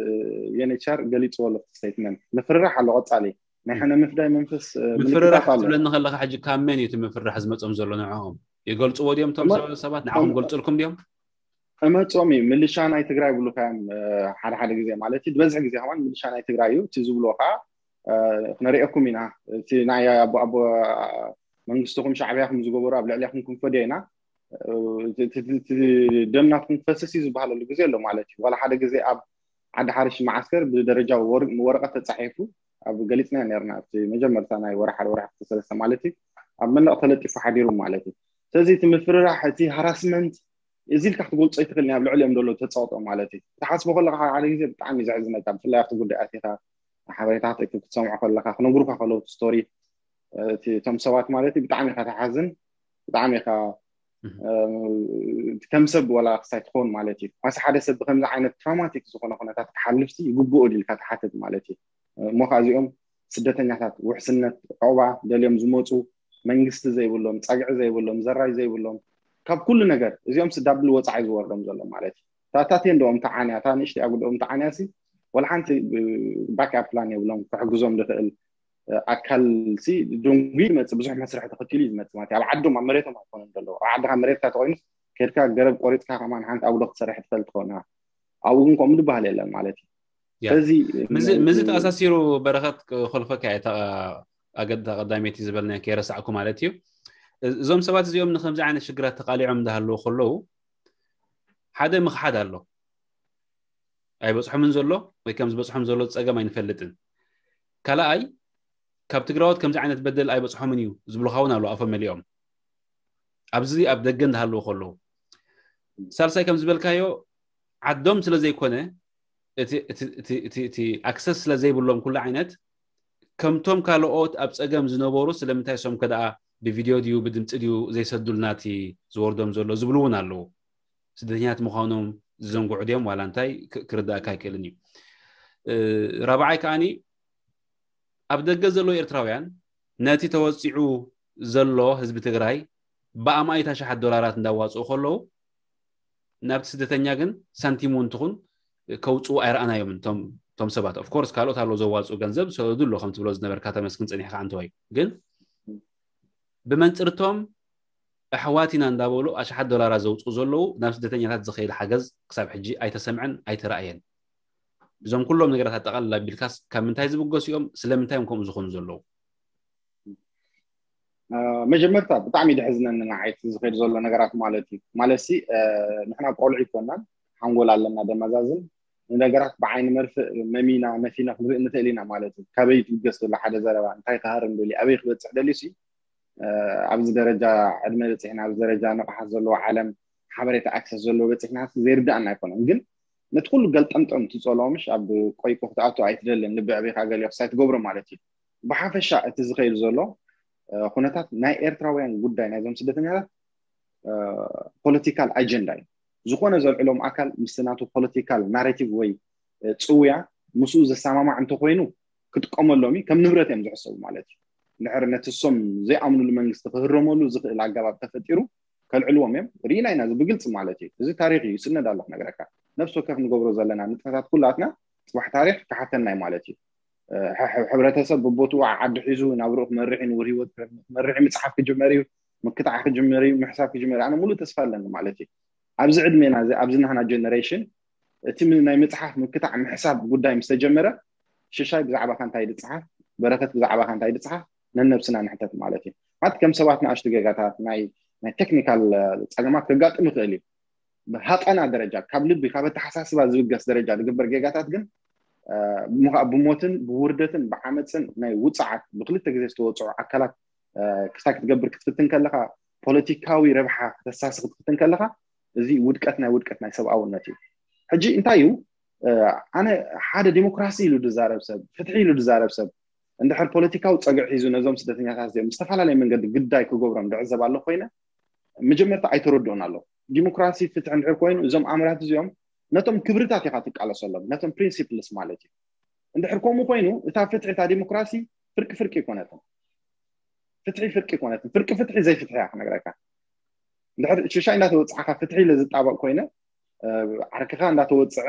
ዩኤንኤችሲኣር ገሊፅዎ ኣሎ ስቴትመንት። ምፍርራሕ ኣሎ፣ ቀፃሊ ናይ ሕነ ምፍዳይ መንፈስ ምፍርራሕ ክትብለኒ ከለካ ሕጂ ካብ መን እዩ እቲ ምፍርራሕ ዝመፆም ዘሎ? ንዕኦም ይገልፅዎ ድዮም? እቶም ሰባት ንዓኹም ገልፅልኩም ድዮም? እመፅኦም እዩ። ምልሻ ናይ ትግራይ ብሉካ እዮም ሓደ ሓደ ግዜ፣ ማለት እዩ ዝበዝሕ ግዜ ከማን ምልሻ ናይ ትግራይ እዩ። እቲ ዝብልዎ ከዓ ክነሪኤኩም ኢና። እቲ ናይ ኣቦ ኣቦ መንግስትኹም ሻዕብያኹም ዝገበሩ ኣብ ልዕሊኹም ክንፈድዮ ኢና፣ ደምናትኩም ክፈስስ እዩ ዝበሃለሉ ግዜ ኣሎ ማለት እዩ። ዋላ ሓደ ግዜ ኣብ ዓዲ ሓርሽ መዓስከር ብደረጃ ወረቀት ተፃሒፉ ኣብ ገሊፅና ነርና፣ እቲ መጀመርታ ናይ ወርሓ ሓደ ወርሓ ክልተ ሰለስተ ማለት እዩ፣ ኣብ መንደቕ ተለጢፉ ሓዲሩ ማለት እዩ። ስለዚ እቲ ምፍርራሕ፣ እቲ ሃራስመንት እዚ ኢልካ ክትገልፆ ይትኽእል፣ ኣብ ልዕሊኦም ዘሎ ተፃውጦ ማለት እዩ። ክትሓስቦ ከለካ ሓደ ግዜ ብጣዕሚ ዘሕዝነካ፣ ብፍላይ ኣብቲ ጉዳይ ኣቲኻ ሓበሬታት ክትሰምዖ ከለካ ክነግሩካ ከለዉ ስቶሪ፣ እቶም ሰባት ማለት እዩ ብጣዕሚ ኢካ ትሓዝን፣ ብጣዕሚ ኢካ ከም ሰብ ዋላ ክሳይ ትኸውን ማለት እዩ። ማስ ሓደ ሰብ ብከምዚ ዓይነት ትራውማቲክ ዝኾነ ኩነታት ክሓልፍሲ ይግብኦ ድዩ ኢልካ ትሓትት ማለት እዩ። እሞ ከዓ እዚኦም ስደተኛታት ውሕስነት ዑቕባ ደልዮም ዝመፁ፣ መንግስቲ ዘይብሎም፣ ፀግዒ ዘይብሎም፣ ዘራይ ዘይብሎም፣ ካብ ኩሉ ነገር እዚኦም ሲ ዳብል ወፃዒ ዝወርዶም ዘሎ ማለት እዩ። ታታቴ እንደኦም ተዓንያ፣ እታ ንእሽተይ ኣጉደኦም ተዓንያ ሲ ወላ ሓንቲ ባክ ኣፕ ፕላን የብሎም ክሕግዞም ዝኽእል ኣካል ሲ ደንጉዩ ይመፅእ፣ ብዙሕ መስርሕ ተኸቲሉ እዩ ዝመፅእ ማለት እዩ። ኣብ ዓዶም ኣብ መሬቶም ኣይኮነን ዘለዉ። ኣብ ዓድካ መሬትካ ተኮይኑ ከድካ ገረብ ቆሪፅካ ከማን ሓንቲ ኣጉዶ ክትሰርሕ ትፈልጥ ትኾን ኢኻ። ኣብኡ ግን ከምኡ ዝበሃል የለን ማለት እዩ። ስለዚ ምዚ ተኣሳሲሩ በረኸት ክኾልፈካ እየ፣ ኣገዳ ቀዳመይቲ ዝበልና ከይረሳዕኩ ማለት እዩ። እዞም ሰባት እዚኦም ንከምዚ ዓይነት ሽግራት ተቃሊዖም እንዳሃለዉ ከለዉ ሓደ ምኽሓድ ኣሎ። ኣይበፅሖምን ዘሎ ወይ ከም ዝበፅሖም ዘሎ ፀገም ኣይንፈልጥን። ካልኣይ፣ ካብ ትግራዎት ከምዚ ዓይነት በደል ኣይበፅሖምን እዩ ዝብሉካ እውን ኣለዉ ኣፎም መሊኦም፣ ኣብዚ ኣብ ደገ እንዳሃለዉ ከለዉ። ሳልሳይ፣ ከም ዝበልካዮ ዓዶም ስለ ዘይኮነ እቲ ኣክሰስ ስለ ዘይብሎም ኩሉ ዓይነት ከምቶም ካልኦት ኣብ ፀገም ዝነበሩ ስለምንታይ ሶም ከደኣ ብቪድዮ ድዩ ብድምፂ ድዩ ዘይሰዱልና እቲ ዝወርዶም ዘሎ ዝብሉ እውን ኣለዉ። ስደተኛት ምዃኖም ዝዘንግዑ ድዮም ዋላ እንታይ ክርዳእካ ኣይክእልን እዩ። ራብዓይ ከዓኒ ኣብ ደገ ዘለዉ ኤርትራውያን ነቲ ተወፂዑ ዘሎ ህዝቢ ትግራይ ብኣማኢት ኣሽሓት ዶላራት እንዳዋፅኡ ከለዉ ናብቲ ስደተኛ ግን ሳንቲም እውን ትኹን ከውፅኡ ኣይረኣናዮምን እቶም ሰባት። ኦፍኮርስ ካልኦት ኣለዉ ዘዋፅኡ ገንዘብ ሰዱ ኣሎ ከም ትብሎ ዝነበርካ ተመስግን ፀኒሕካ ኣንተዋይ ግን ብመንፅርቶም ኣሕዋት ኢና እንዳበሉ ኣሽሓት ዶላራት ዘውፅኡ ዘለዉ ናብ ስደተኛታት ዝኸይድ ሓገዝ ክሳብ ሕጂ ኣይተሰምዐን ኣይተረኣየን። እዞም ኩሎም ነገራት ኣጠቓልላ ኣቢልካስ ካብ ምንታይ ዝብገሱ እዮም? ስለምንታይ እዮም ከምኡ ዝኾኑ ዘለዉ? መጀመርታ ብጣዕሚ ደሕዝነኒ ንዓይ እቲ ዝኸይድ ዘሎ ነገራት ማለት እዩ። ማለት ሲ ንሕና ቆልዑ ይኮናን ሓንጎል ኣለና ደመዛዝን ንነገራት ብዓይኒ መርፍእ መሚና መፊና ክንርኢ ንኽእል ኢና ማለት እዩ። ካበይ ትብገስ ዘሎ ሓደ ዘረባ እንታይ ክሃርም ደልዩ ኣበይ ክበፅሕ ደልዩ ሲ ኣብዚ ደረጃ ዕድመ በፂሕና ኣብዚ ደረጃ ንቕሓት ዘለዎ ዓለም ሓበሬታ ኣክሰስ ዘለዎ በፂሕና ዘይርዳእና ኣይኮነን። ግን ነቲ ኩሉ ገልጠምጠም ትፀልኦ ምሽ ኣብ ቆይቆ ክትኣቱ ኣይትደልን ልቢ ዕቤካ ገሊኦ ክሳይ ትገብሮ ማለት እዩ። ብሓፈሻ እቲ ዝኸይድ ዘሎ ኩነታት ናይ ኤርትራውያን ጉዳይ ናይዞም ስደተኛታት ፖለቲካል ኣጀንዳ እዩ። ዝኾነ ዘልዕሎም ኣካል ምስቲ ናቱ ፖለቲካል ናሬቲቭ ወይ ፅውያ ምስኡ ዘሰማማዕ እንተኮይኑ ክጥቀመሎም እዩ። ከም ንብረት እዮም ዝሕሰቡ ማለት እዩ። እንድሕር ነቲ እሶም ዘይኣምኑሉ መንግስቲ ክህረመሉ ዝኽእል ኣገባብ ተፈጢሩ ከልዕልዎም እዮም። ርኢና ኢና እዚ ብግልፂ ማለት እዩ። እዚ ታሪክ እዩ ይስነድ ኣሎ ክነግረካ። ነብሲ ወከፍ ንገብሮ ዘለና ንጥፈታት ኩላትና ፅባሕ ታሪክ ክሓተና እዩ ማለት እዩ። ሕብረተሰብ ብቦትኡ ዓዲ ሒዙ ናብርኡ ክመርሕ እዩ፣ ንውር ህይወት ክመርሕ እዩ፣ ምፅሓፍ ክጅመር እዩ፣ ምክታዕ ክጅመር እዩ፣ ምሕሳብ ክጅመር እዩ። ኣነ ሙሉእ ተስፋ ኣለኒ ማለት እዩ። ኣብዚ ዕድሜና እዚ ኣብዚ ናህና ጀነሬሽን እቲ ም- ናይ ምፅሓፍ ምክታዕ ምሕሳብ ጉዳይ ምስ ተጀመረ ሽሻይ ብዛዕባኻ እንታይ ድፅሓፍ፣ በረኸት ብዛዕባኻ እንታይ ድፅሓፍ፣ ነነብስና ንሕተት ማለት እዩ። ማለት ከም ሰባት ንኣሽቱ ጌጋታት ናይ ናይ ቴክኒካል ጸገማት ከጋጥም ይኽእል እዩ። ብሃቀና ደረጃ ካብ ልቢ ካብ ኣተሓሳስባ ዝብገስ ደረጃ ዝግበር ጌጋታት ግን ብሞትን ብውርደትን ብዓመፅን ናይ ውፅዓት ብክልተ ግዜ ዝተወፅዑ ኣካላት ክስታይ ክትገብር ክትፍትን ከለካ፣ ፖለቲካዊ ረብሓ ክተሳሲ ክትፍትን ከለካ፣ እዚ ውድቀት ናይ ውድቀት ናይ ሰብኣውነት እዩ። ሕጂ እንታይ እዩ? ኣነ ሓደ ዲሞክራሲ ኢሉ ዝዛረብ ሰብ፣ ፍትሒ ኢሉ ዝዛረብ ሰብ እንድሕር ፖለቲካዊ ፀግዒ ሒዙ ነዞም ስደተኛታት እዚኦም ብዝተፈላለየ መንገዲ ግዳይ ክገብሮም ድዕዘብ ኣሎ ኮይነ፣ መጀመርታ ኣይተረድኦን ኣሎ። ዲሞክራሲ ፍትሒ እንድሕር ኮይኑ እዞም ኣምራት እዚኦም ነቶም ክብርታት ኢካ ትቃለሰሎም፣ ነቶም ፕሪንሲፕልስ ማለት እዩ። እንድሕር ከምኡ ኮይኑ እታ ፍትሒ እታ ዲሞክራሲ ፍርቂ ፍርቂ ኣይኮነትን። ፍትሒ ፍርቂ ኣይኮነትን። ፍርቂ ፍትሒ ዘይፍትሒ እያ ክነግረካ። እንድሕር ሽሻይ እንዳተወፅዓካ ፍትሒ ኢለ ዝጣበቅ ኮይነ ዓርክኻ እንዳተወፅዐ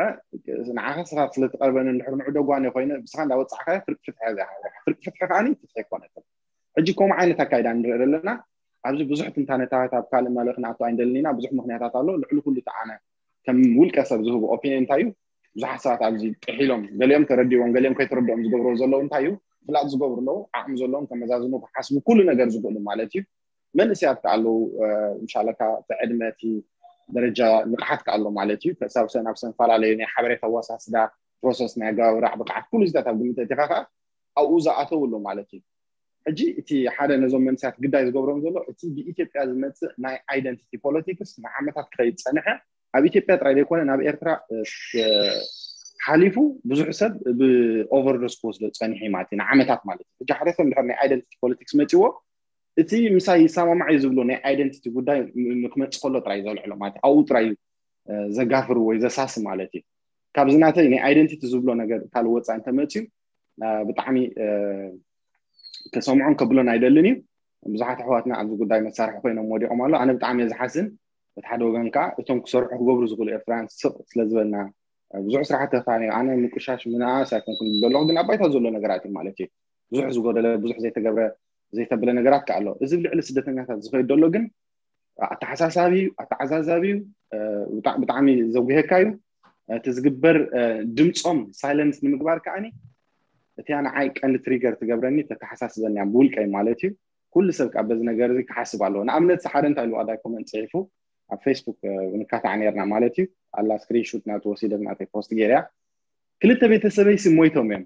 ንዓኻ ስኻ ስለትቀርበኒ እንድሕር ንዑ ደጓኒ ኮይነ ብስኻ እንዳወፃዕካ ፍርቂ ፍትሒ እያ። ፍርቂ ፍትሒ ከዓኒ ፍትሒ ኣይኮነትን። ሕጂ ከምኡ ዓይነት ኣካይዳ ንርኢ ዘለና። ኣብዚ ብዙሕ ትንታነታት ኣብ ካልእ መልእኽ ንኣቶ ኣይንደልን ኢና። ብዙሕ ምክንያታት ኣሎ። ልዕሊ ኩሉ ተዓነ ከም ውልቀ ሰብ ዝህቡ ኦፒኒየን እንታይ እዩ? ብዙሓት ሰባት ኣብዚ ጥሒሎም፣ ገሊኦም ተረዲዎም፣ ገሊኦም ከይተረድኦም ዝገብረው ዘለዉ እንታይ እዩ? ፍላጥ ዝገብሩ ኣለዉ፣ ዓቕሚ ዘለዎም ከመዛዝኑ ክሓስቡ ኩሉ ነገር ዝኽእሉ ማለት እዩ። መንእሰያት ከ ኣለዉ፣ ምሻለካ እቲ ዕድመ እቲ ደረጃ ንቕሓት ከ ኣሎ ማለት እዩ። ክሳብ ሰ ናብ ዝተፈላለዩ ናይ ሓበሬታ ኣወሳስዳ ፕሮሰስ ናይ ኣገባብራ ብቕዓት ኩሉ ዚታት ኣብ ግምት እቲኻ ከኣ ኣብኡ ዝኣተው ኣሎ ማለት እዩ። ሕጂ እቲ ሓደ ነዞም መንእሰያት ግዳይ ዝገብሮም ዘሎ እቲ ብኢትዮጵያ ዝመፅእ ናይ ኣይደንቲቲ ፖለቲክስ ንዓመታት ክኸይድ ፀንሐ። ኣብ ኢትዮጵያ ጥራይ ዘይኮነ ናብ ኤርትራ ሓሊፉ ብዙሕ ሰብ ብኦቨርዶስ ክወስዶ ፀኒሑ ማለት እዩ፣ ንዓመታት ማለት እዩ። ሕጂ ሓደ ሰብ እንድሕር ናይ ኣይደንቲቲ ፖለቲክስ መፅዎ እቲ ምሳይ ይሰማማዕ እዩ ዝብሎ ናይ ኣይደንቲቲ ጉዳይ ንክመፅእ ከሎ ጥራይ ዘልዕሎ ማለት ኣብኡ ጥራይ እዩ ዘጋፍር ወይ ዘሳሲ ማለት እዩ። ካብዚ ናተይ ናይ ኣይደንቲቲ ዝብሎ ነገር ካልእ ወፃኢ እንተመፅዩ ብጣዕሚ ከሰምዖን ከብሎን ኣይደልን እዩ። ብዙሓት ኣሕዋትና ኣብዚ ጉዳይ መሳርሒ ኮይኖም ወዲቖም ኣሎ። ኣነ ብጣዕሚ እየ ዝሓዝን። በቲ ሓደ ወገን ከዓ እቶም ክሰርሑ ክገብሩ ዝኽእሉ ኤርትራውያን ስቕ ስለ ዝበልና ብዙሕ ስራሕቲ ተፋኒ ኣነ ምቁሻሽ ምንኣስ ኣይኮንኩን ዘለኹ፣ ግን ኣብ ባይታ ዘሎ ነገራት እዩ ማለት እዩ። ብዙሕ ዝጎደለ፣ ብዙሕ ዘይተገብረ፣ ዘይተብለ ነገራት ከ ኣሎ። እዚ ብልዕሊ ስደተኛታት ዝኸይድ ዘሎ ግን ኣተሓሳሳቢ እዩ፣ ኣተዓዛዛቢ እዩ፣ ብጣዕሚ ዘጉሄካ እዩ። እቲ ዝግበር ድምፆም ሳይለንስ ንምግባር ከዓኒ እቲያ ንዓይ ቀንዲ ትሪገር ትገብረኒ ተተሓሳስበኒ እያ ብውልቀይ ማለት እዩ። ኩሉ ሰብ ካብ በዚ ነገር እዚ ክሓስብ ኣለዎ። ንኣብነት ሓደ እንታይ ኢሉ ቀዳይ ኮመንት ፅሒፉ ኣብ ፌስቡክ ንካታዕ ነርና ማለት እዩ። ኣላ ስክሪንሹት ናቱ ወሲደት ናተይ ፖስት ገይርያ። ክልተ ቤተሰበይ ሲ ሞይቶም እዮም።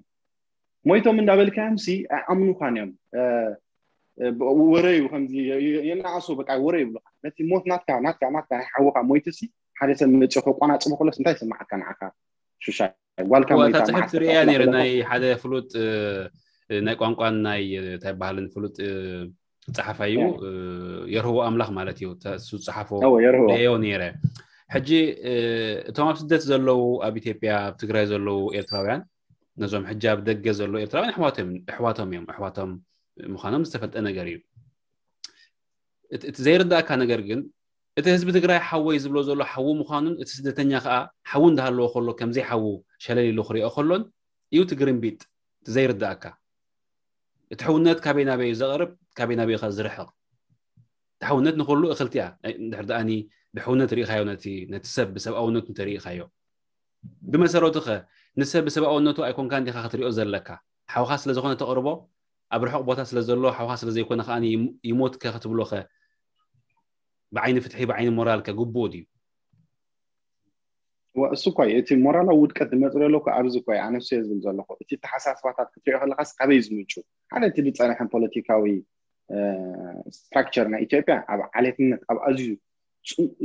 ሞይቶም እንዳበልካዮም ሲ ኣይኣምኑኻን እዮም። ወረ እዩ ከምዚ የናኣሱ በቃ ወረ ይብሉካ። ነቲ ሞት ናትካ ናትካ ናትካ ናይ ሓውካ ሞይቱ ሲ ሓደ ሰብ መፅኡ ከቋናፅቦ ከሎስ እንታይ ይስማዓካ ንዓካ? ሹሻይ ጓልካ እዋ፣ እታ ሞይታ ጽሕፍቲ መዓስ ርእያ ነይረ። ተቃጽላ ናይ ሓደ ፍሉጥ ናይ ቋንቋን ናይ እንታይ ባህልን ፍሉጥ ጸሓፋይ እዩ። የርህዎ ኣምላኽ ማለት እዩ። እሱ ዝጸሓፎ ርእዮ ነይረ። ሕጂ እቶም ኣብ ስደት ዘለዉ፣ ኣብ ኢትዮጵያ ኣብ ትግራይ ዘለዉ ኤርትራውያን፣ ነዞም ሕጂ ኣብ ደገ ዘለዉ ኤርትራውያን ኣሕዋቶም እዮም። ኣሕዋቶም ምዃኖም ዝተፈልጠ ነገር እዩ። እቲ ዘይርዳእካ ነገር ግን እቲ ህዝቢ ትግራይ ሓወይ ዝብሎ ዘሎ ሓዉ ምዃኑን እቲ ስደተኛ ከዓ ሓዉ እንዳሃለዎ ከሎ ከምዘይ ሓዉ ሸለል ኢሉ ክሪኦ ከሎን እዩ እቲ ግርምቢጥ፣ እቲ ዘይርዳእካ። እቲ ሕውነት ካበይ ናበይ እዩ ዘቕርብ፣ ካበይ ናበይ እዩ ዝርሕቕ? እቲ ሕውነት ንኹሉ እኽልቲ እያ። እንድሕር ደኣኒ ብሕውነት ሪኢኻዮ፣ ነቲ ሰብ ብሰብኣውነቱ እንተሪኢኻዮ፣ ብመሰረቱ ኸ ንሰብ ብሰብኣውነቱ ኣይኮንካን ዲኻ ክትሪኦ ዘለካ? ሓውኻ ስለ ዝኾነ ተቕርቦ፣ ኣብ ርሑቕ ቦታ ስለ ዘሎ፣ ሓውኻ ስለ ዘይኮነ ከኣ ይሞትከ ክትብሎ ኸ ብዓይኒ ፍትሒ፣ ብዓይኒ ሞራል ከ ግቡእ ድዩ? እሱ እኳ እዩ እቲ ሞራላዊ ውድቀት ዝመፅእ ዘሎ እኮ ኣብዚ እኳ እዩ ኣነሱ እየ ዝብል ዘለኹ። እቲ ተሓሳስባታት ክትሪኦ ከለካስ ካበይ ዝምንጩ? ሓደ እቲ ዝፀንሐን ፖለቲካዊ ስትራክቸር ናይ ኢትዮጵያ ኣብ ዓሌትነት ኣብ ኣዝዩ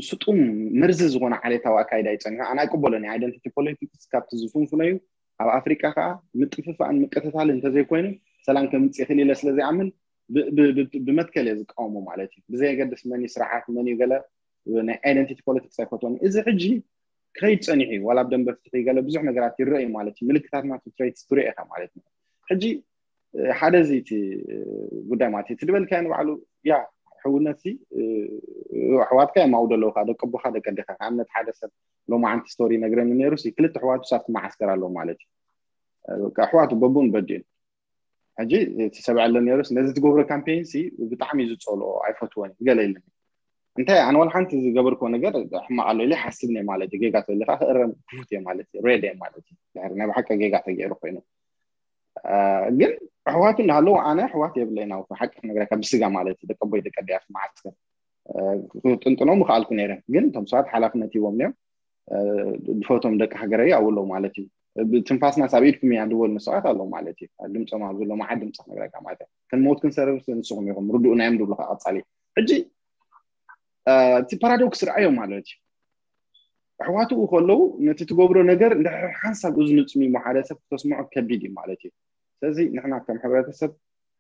ስጡም መርዚ ዝኾነ ዓሌታዊ ኣካይዳ እዩ ፀኒሑ። ኣነ ኣይቅበሎን እዩ። ኣይደንቲቲ ፖለቲክስ ካብቲ ዝፍንፍኖ እዩ። ኣብ ኣፍሪቃ ከዓ ምጥፍፋእን ምቅትታልን እንተዘይኮይኑ ሰላም ከምፅእ ይኽእል ኢለ ስለ ዘይኣምን ብመትከል እየ ዝቃወሞ ማለት እዩ። ብዘየገድስ መን እዩ ስርዓት መን እዩ ገለ ናይ ኣይደንቲቲ ፖለቲክስ ኣይፈትዎን። እዚ ሕጂ ክኸይድ ፀኒሑ እዩ። ዋላ ኣብ ደንበ ፍትሒ ገለ ብዙሕ ነገራት ይረአ እዩ ማለት እዩ። ምልክታት ናቱ ትሬትስ ትሪኦ ኢኻ ማለት እዩ። ሕጂ ሓደ እዚ እቲ ጉዳይ ማለት እዩ። እቲ ዝበልካዮ ንባዕሉ ያ ሕውነት ሲ ኣሕዋትካ እዮም ኣብኡ ዘለውካ ደቂ ኣቦኻ ደቂ ኣዴኻ። ንኣብነት ሓደ ሰብ ሎማዓንቲ ስቶሪ ነግረኒ ነይሩ ሲ ክልተ ኣሕዋቱ ሳብቲ መዓስከር ኣለዉ ማለት እዩ። ኣሕዋቱ በቡን በዲኡን ሕጂ እቲ ሰብ ኣሎ ነይሩስ ነዚ ትገብሮ ካምፔን ሲ ብጣዕሚ እዩ ዝፀልኦ ኣይፈትዎን እዩ ገለ ኢለኒ። እንታይ ኣነ ዋላ ሓንቲ ዝገበርኮ ነገር ሕማቕ ኣሎ ኢለ ሓስብ ነ ማለት እዩ። ጌጋ ተልካ ክእረም ክፉት እየ ማለት እዩ። ሬድ እየ ማለት እዩ። ድሕሪ ናይ ብሓቂ ጌጋ ተገይሩ ኮይኑ ግን ኣሕዋቱ እንዳሃለዉ ኣነ ኣሕዋት የብለይ ናብ ሓቂ ክነግረካ ብስጋ ማለት እዩ። ደቂ ኣቦይ ደቂ ኣዲያት መዓስከር ክጥንጥኖም ምኽኣልኩ ነይረ። ግን እቶም ሰባት ሓላፍነት ሂቦም እዮም። ድፈቶም ደቂ ሃገረይ ኣብኡ ኣለዉ ማለት እዩ። ትንፋስና ሳብ ኢድኩም እያ ድበሉ ሰባት ኣለዉ ማለት እዩ። ድምፆም ኣብ ዘሎ መዓት ድምፂ ክነግረካ ማለት እዩ። ክንሞት ክንሰርብ ንስኹም ኢኹም ርድኡ ናዮም ድብሉካ ቀፃሊ ሕጂ እቲ ፓራዶክስ ርኣዮ ማለት እዩ። ኣሕዋትኡ ከለዉ ነቲ ትገብሮ ነገር እንድሕር ሓንሳብ እዝኑ ፅሚሞ ሓደ ሰብ ክተስምዖ ከቢድ እዩ ማለት እዩ። ስለዚ ንሕና ከም ሕብረተሰብ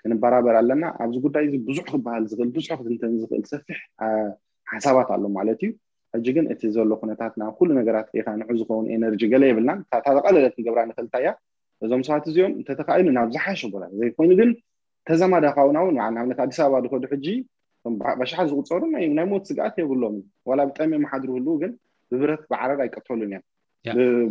ክንበራበር ኣለና። ኣብዚ ጉዳይ እዚ ብዙሕ ክበሃል ዝኽእል ብዙሕ ክትንተን ዝኽእል ሰፊሕ ሓሳባት ኣሎ ማለት እዩ። ሕጂ ግን እቲ ዘሎ ኩነታት ናብ ኩሉ ነገራት ሪኢኻ ንዑ ዝኸውን ኤነርጂ ገለ የብልናን። እታ ዝቐለለት ንገብራ ንኽእል እንታይ እያ? እዞም ሰባት እዚኦም እንተተኻኢሉ ናብ ዝሓሸ ቦታ ዘይኮይኑ ግን ተዛማዳካውን እውን ንኣብነት ኣዲስ ኣበባ ዝኸዱ ሕጂ በሽሓት ዝቁፀሩ ናይ ሞት ስግኣት የብሎም። ዋላ ብጠሚ መሓድሩ ህልው ግን ብብረት ብዓረር ኣይቀተሉን እዮም።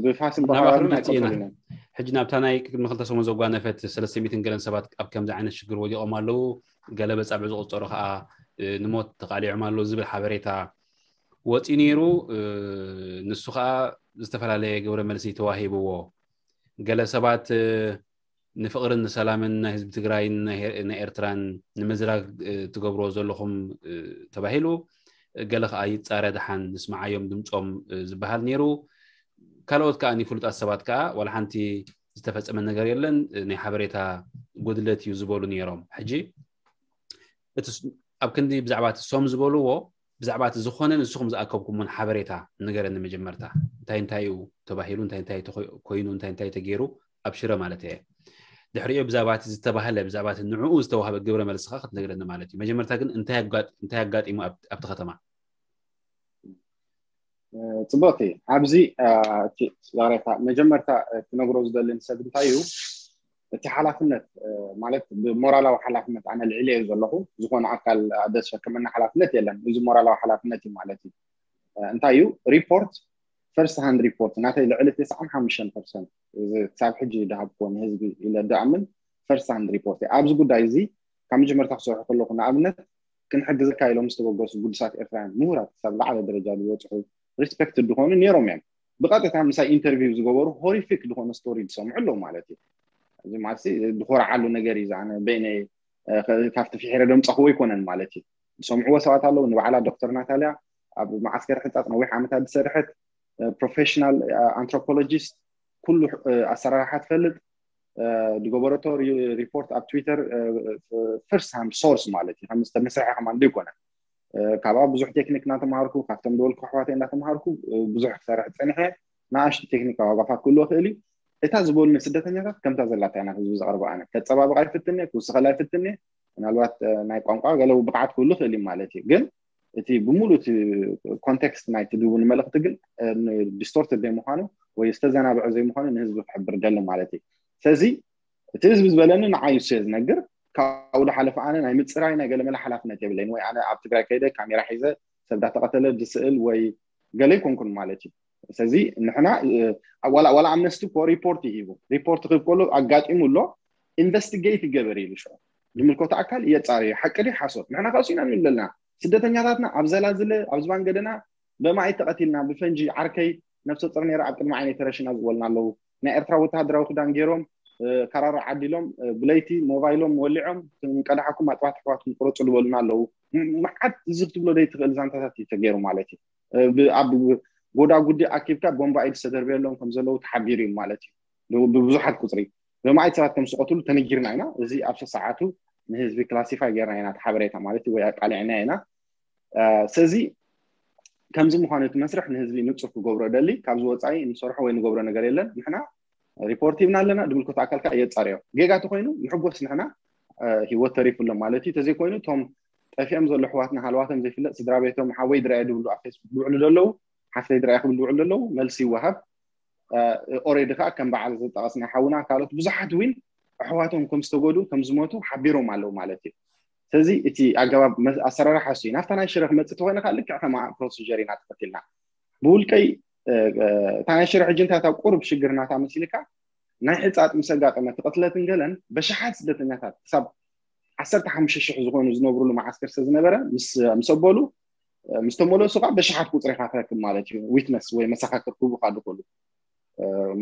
ብፋስን ብኻራርን ኣይቀተሉን እዮም። ሕጂ ናብታ ናይ ቅድሚ ክልተ ሰሙን ዘጓነፈት ሰለስተ ሚእትን ገለን ሰባት ኣብ ከምዚ ዓይነት ሽግር ወዲቖም ኣለዉ፣ ገለ በፃብዕ ዝቁፀሩ ከዓ ንሞት ተቃሊዖም ኣለዉ ዝብል ሓበሬታ ወፂኡ ነይሩ። ንሱ ከዓ ዝተፈላለየ ግብረ መልሲ ተዋሂብዎ። ገለ ሰባት ንፍቕርን ንሰላምን ናይ ህዝቢ ትግራይን ናይ ኤርትራን ንምዝራግ ትገብርዎ ዘለኹም ተባሂሉ ገለ ከዓ ይፃረ ደሓን ንስማዓዮም ድምፆም ዝበሃል ነይሩ። ካልኦት ከዓ ንፍሉጣት ሰባት ከዓ ዋላ ሓንቲ ዝተፈፀመ ነገር የለን፣ ናይ ሓበሬታ ጉድለት እዩ ዝበሉ ነይሮም። ሕጂ ኣብ ክንዲ ብዛዕባ እቲ ሶም ዝበልዎ ብዛዕባ እቲ ዝኾነ ንስኹም ዝኣከብኩሞን ሓበሬታ ንገረኒ። መጀመርታ እንታይ እንታይ እዩ ተባሂሉ፣ እንታይ እንታይ ኮይኑ፣ እንታይ እንታይ ተገይሩ ኣብ ሽረ ማለት እየ። ድሕሪኡ ብዛዕባ እቲ ዝተባህለ ብዛዕባ እቲ ንዕኡ ዝተዋህበ ግብረ መልስኻ ክትነግረኒ ማለት እዩ። መጀመርታ ግን እንታይ ኣጋጢሙ ኣብቲ ከተማ? ፅቡቅ። ኣብዚ ዛሬታ መጀመርታ ክነግሮ ዝደልን ሰብ እንታይ እዩ እቲ ሓላፍነት ማለት ብሞራላዊ ሓላፍነት ኣነ ልዕሊ እየ ዘለኹ። ዝኾነ ኣካል ደስ ሸክመና ሓላፍነት የለን። እዚ ሞራላዊ ሓላፍነት እዩ ማለት እዩ። እንታይ እዩ ሪፖርት ፈርስት ሃንድ ሪፖርት ናተይ ልዕሊ ተስዓን ሓሙሽተን ፐርሰንት ክሳብ ሕጂ ድሃብኮ ንህዝቢ ኢለ ድኣምን ፈርስት ሃንድ ሪፖርት ኣብዚ ጉዳይ እዚ ካብ መጀመርታ ክሰርሑ ከለኹ ንኣብነት ክንሕግዘካ ኢሎም ዝተበገሱ ግዱሳት ኤርትራውያን ምሁራት ክሳብ ላዕለ ደረጃ ዝበፅሑ ሪስፔክትድ ዝኾኑ ነይሮም እዮም። ብቐጥታ ምሳይ ኢንተርቪው ዝገበሩ ሆሪፊክ ዝኾነ ስቶሪ ዝሰምዑ ኣለዉ ማለት እዩ። እዚ ማለት ድኮርዓሉ ነገር እዩ። ዝኣነ በይነ ካብቲ ፍሒረ ደምፀኽዎ ኣይኮነን ማለት እዩ። ዝሰምዕዎ ሰባት ኣለዉ። ንባዕላ ዶክተር ናታልያ ኣብ መዓስከር ሕፃፅ ነዊሕ ዓመታት ዝሰርሐት ፕሮፌሽናል ኣንትሮፖሎጂስት ኩሉ ኣሰራርሓ ትፈልጥ ዝገበረቶ ሪፖርት ኣብ ትዊተር ፈርስት ሃንድ ሶርስ ማለት እዩ። ከም ዝተመስርሐ ከማን ዘይኮነ ካብኣ ብዙሕ ቴክኒክ እናተምሃርኩ ካብቶም ዝበልኩ ኣሕዋተይ እናተምሃርኩ ብዙሕ ክሰርሕ ፀኒሐ። ንኣሽቱ ቴክኒካዊ ዋጋፋት ክህልዎ ክእል እዩ። እታ ዝበሉኒ ስደተኛታት ከምታ ዘላታ ኢና ህዝቢ ዘቕርባ ኣነ ከፀባብቕ ኣይፍትነ ክውስኸል ኣይፍትነ። ምናልባት ናይ ቋንቋ ገለ ብቕዓት ክህሉ ክእል እዩ ማለት እዩ። ግን እቲ ብምሉእ እቲ ኮንቴክስት ናይቲ ድቡን መልእኽቲ ግን ዲስቶርትድ ዘይምዃኑ ወይ ዝተዘናብዐ ዘይምዃኑ ንህዝቢ ክሕብር ደሊ ማለት እዩ። ስለዚ እቲ ህዝቢ ዝበለኒ ንዓይ እሱ እየ ዝነግር። ካብኡ ዝሓለፈ ኣነ ናይ ምፅራይ ናይ ገለመለ ሓላፍነት የብለይን። ወይ ኣነ ኣብ ትግራይ ከይደ ካሜራ ሒዘ ሰብ ዳተቐተለ ዝስእል ወይ ገለ ኣይኮንኩን ማለት እዩ። ስለዚ ንሕና ዋላ ኣምነስቲ እኮ ሪፖርት ይሂቡ። ሪፖርት ክህብ ከሎ ኣጋጢሙ ኣሎ ኢንቨስቲጌት ይገበር ኢሉ ሽዑ ዝምልከቶ ኣካል የፃርዮ። ሓቂ ድዩ ሓሶት? ንሕና ካብሱ ኢና ንብል ዘለና። ስደተኛታትና ኣብ ዘላዝለ ኣብ ዝባን ገደና ብማይ ተቐቲልና ብፈንጂ ዓርከይ ነፍሰ ጡር ነይራ ኣብ ቅድሚ ዓይነይ ተረሽና ዝበሉና ኣለዉ። ናይ ኤርትራ ወተሃደራዊ ክዳን ገይሮም ካራሮ ዓዲሎም ብለይቲ ሞባይሎም ወሊዖም ክንቀድሓኩም ኣጥባት ኣሕዋትኩም ቁረፁ ዝበሉና ኣለዉ። መዓት እዚ ክትብሎ ዘይትኽእል ዛንታታት እዩ ተገይሩ ማለት እዩ። ኣብ ጎዳጉዲ ኣኪብካ ቦምባ ኢድ ዝተደርበየሎም ከም ዘለዉ ተሓቢሩ እዩ ማለት እዩ። ብብዙሓት ቁፅሪ ብማዓት ሰባት ከም ዝቐትሉ ተነጊርና ኢና። እዚ ኣብ ሰሰዓቱ ንህዝቢ ክላሲፋይ ጌርና ኢና እቲ ሓበሬታ ማለት እዩ ወይ ኣቃሊዕና ኢና። ስለዚ ከምዚ ምዃኑ እቲ መስርሕ ንህዝቢ ንፁር ክገብሮ ደሊ ካብዚ ወፃኢ ንሰርሖ ወይ ንገብሮ ነገር የለን። ንሕና ሪፖርት ሂብና ኣለና። ዝምልከቶ ኣካል ከዓ የፃርዮ። ጌጋ ተኮይኑ ንሕጎስ ንሕና ህይወት ተሪፉ ኣሎ ማለት እዩ። ተዘይኮይኑ እቶም ጠፊኦም ዘሎ ኣሕዋትና ሃለዋቶም ዘይፍለጥ ስድራ ቤቶም ሓወይ ድራየ ዝብሉ ኣብ ፌስቡክ ዝውዕሉ ዘለዉ ሓፍተይ ድራየ ክብል ዝውዕሉ ዘለዉ መልሲ ይወሃብ። ኦሬዲ ከዓ ከም በዓል ዝጠቐስና ሓውና ካልኦት ብዙሓት እውን ኣሕዋቶም ከም ዝተጎዱ ከም ዝሞቱ ሓቢሮም ኣለዉ ማለት እዩ። ስለዚ እቲ ኣገባብ ኣሰራርሓ እሱ እዩ። ናብታ ናይ ሽረ ክመፅእ ተኮይነ ከዓ ልክዕ ከማ ፕሮሲጀር ኢና ተኸቲልና ብውልቀይ እታ ናይ ሽረ ሕጂ እንታይ እታ ቁሩብ ሽግር ናታ መሲልካ ናይ ሕፃጥ ምስ ኣጋጠመ እቲ ቅትለትን ገለን በሽሓት ስደተኛታት ክሳብ ዓሰርተ ሓሙሽተ ሽሕ ዝኾኑ ዝነብሩሉ መዓስከር ስለ ዝነበረ ምስ ኣበሉ ምስ ተመለሱ ከዓ በሽሓት ቁፅሪ ኢካ ትረክብ ማለት እዩ። ዊትነስ ወይ መሰካክር ክህቡካ ዝኽእሉ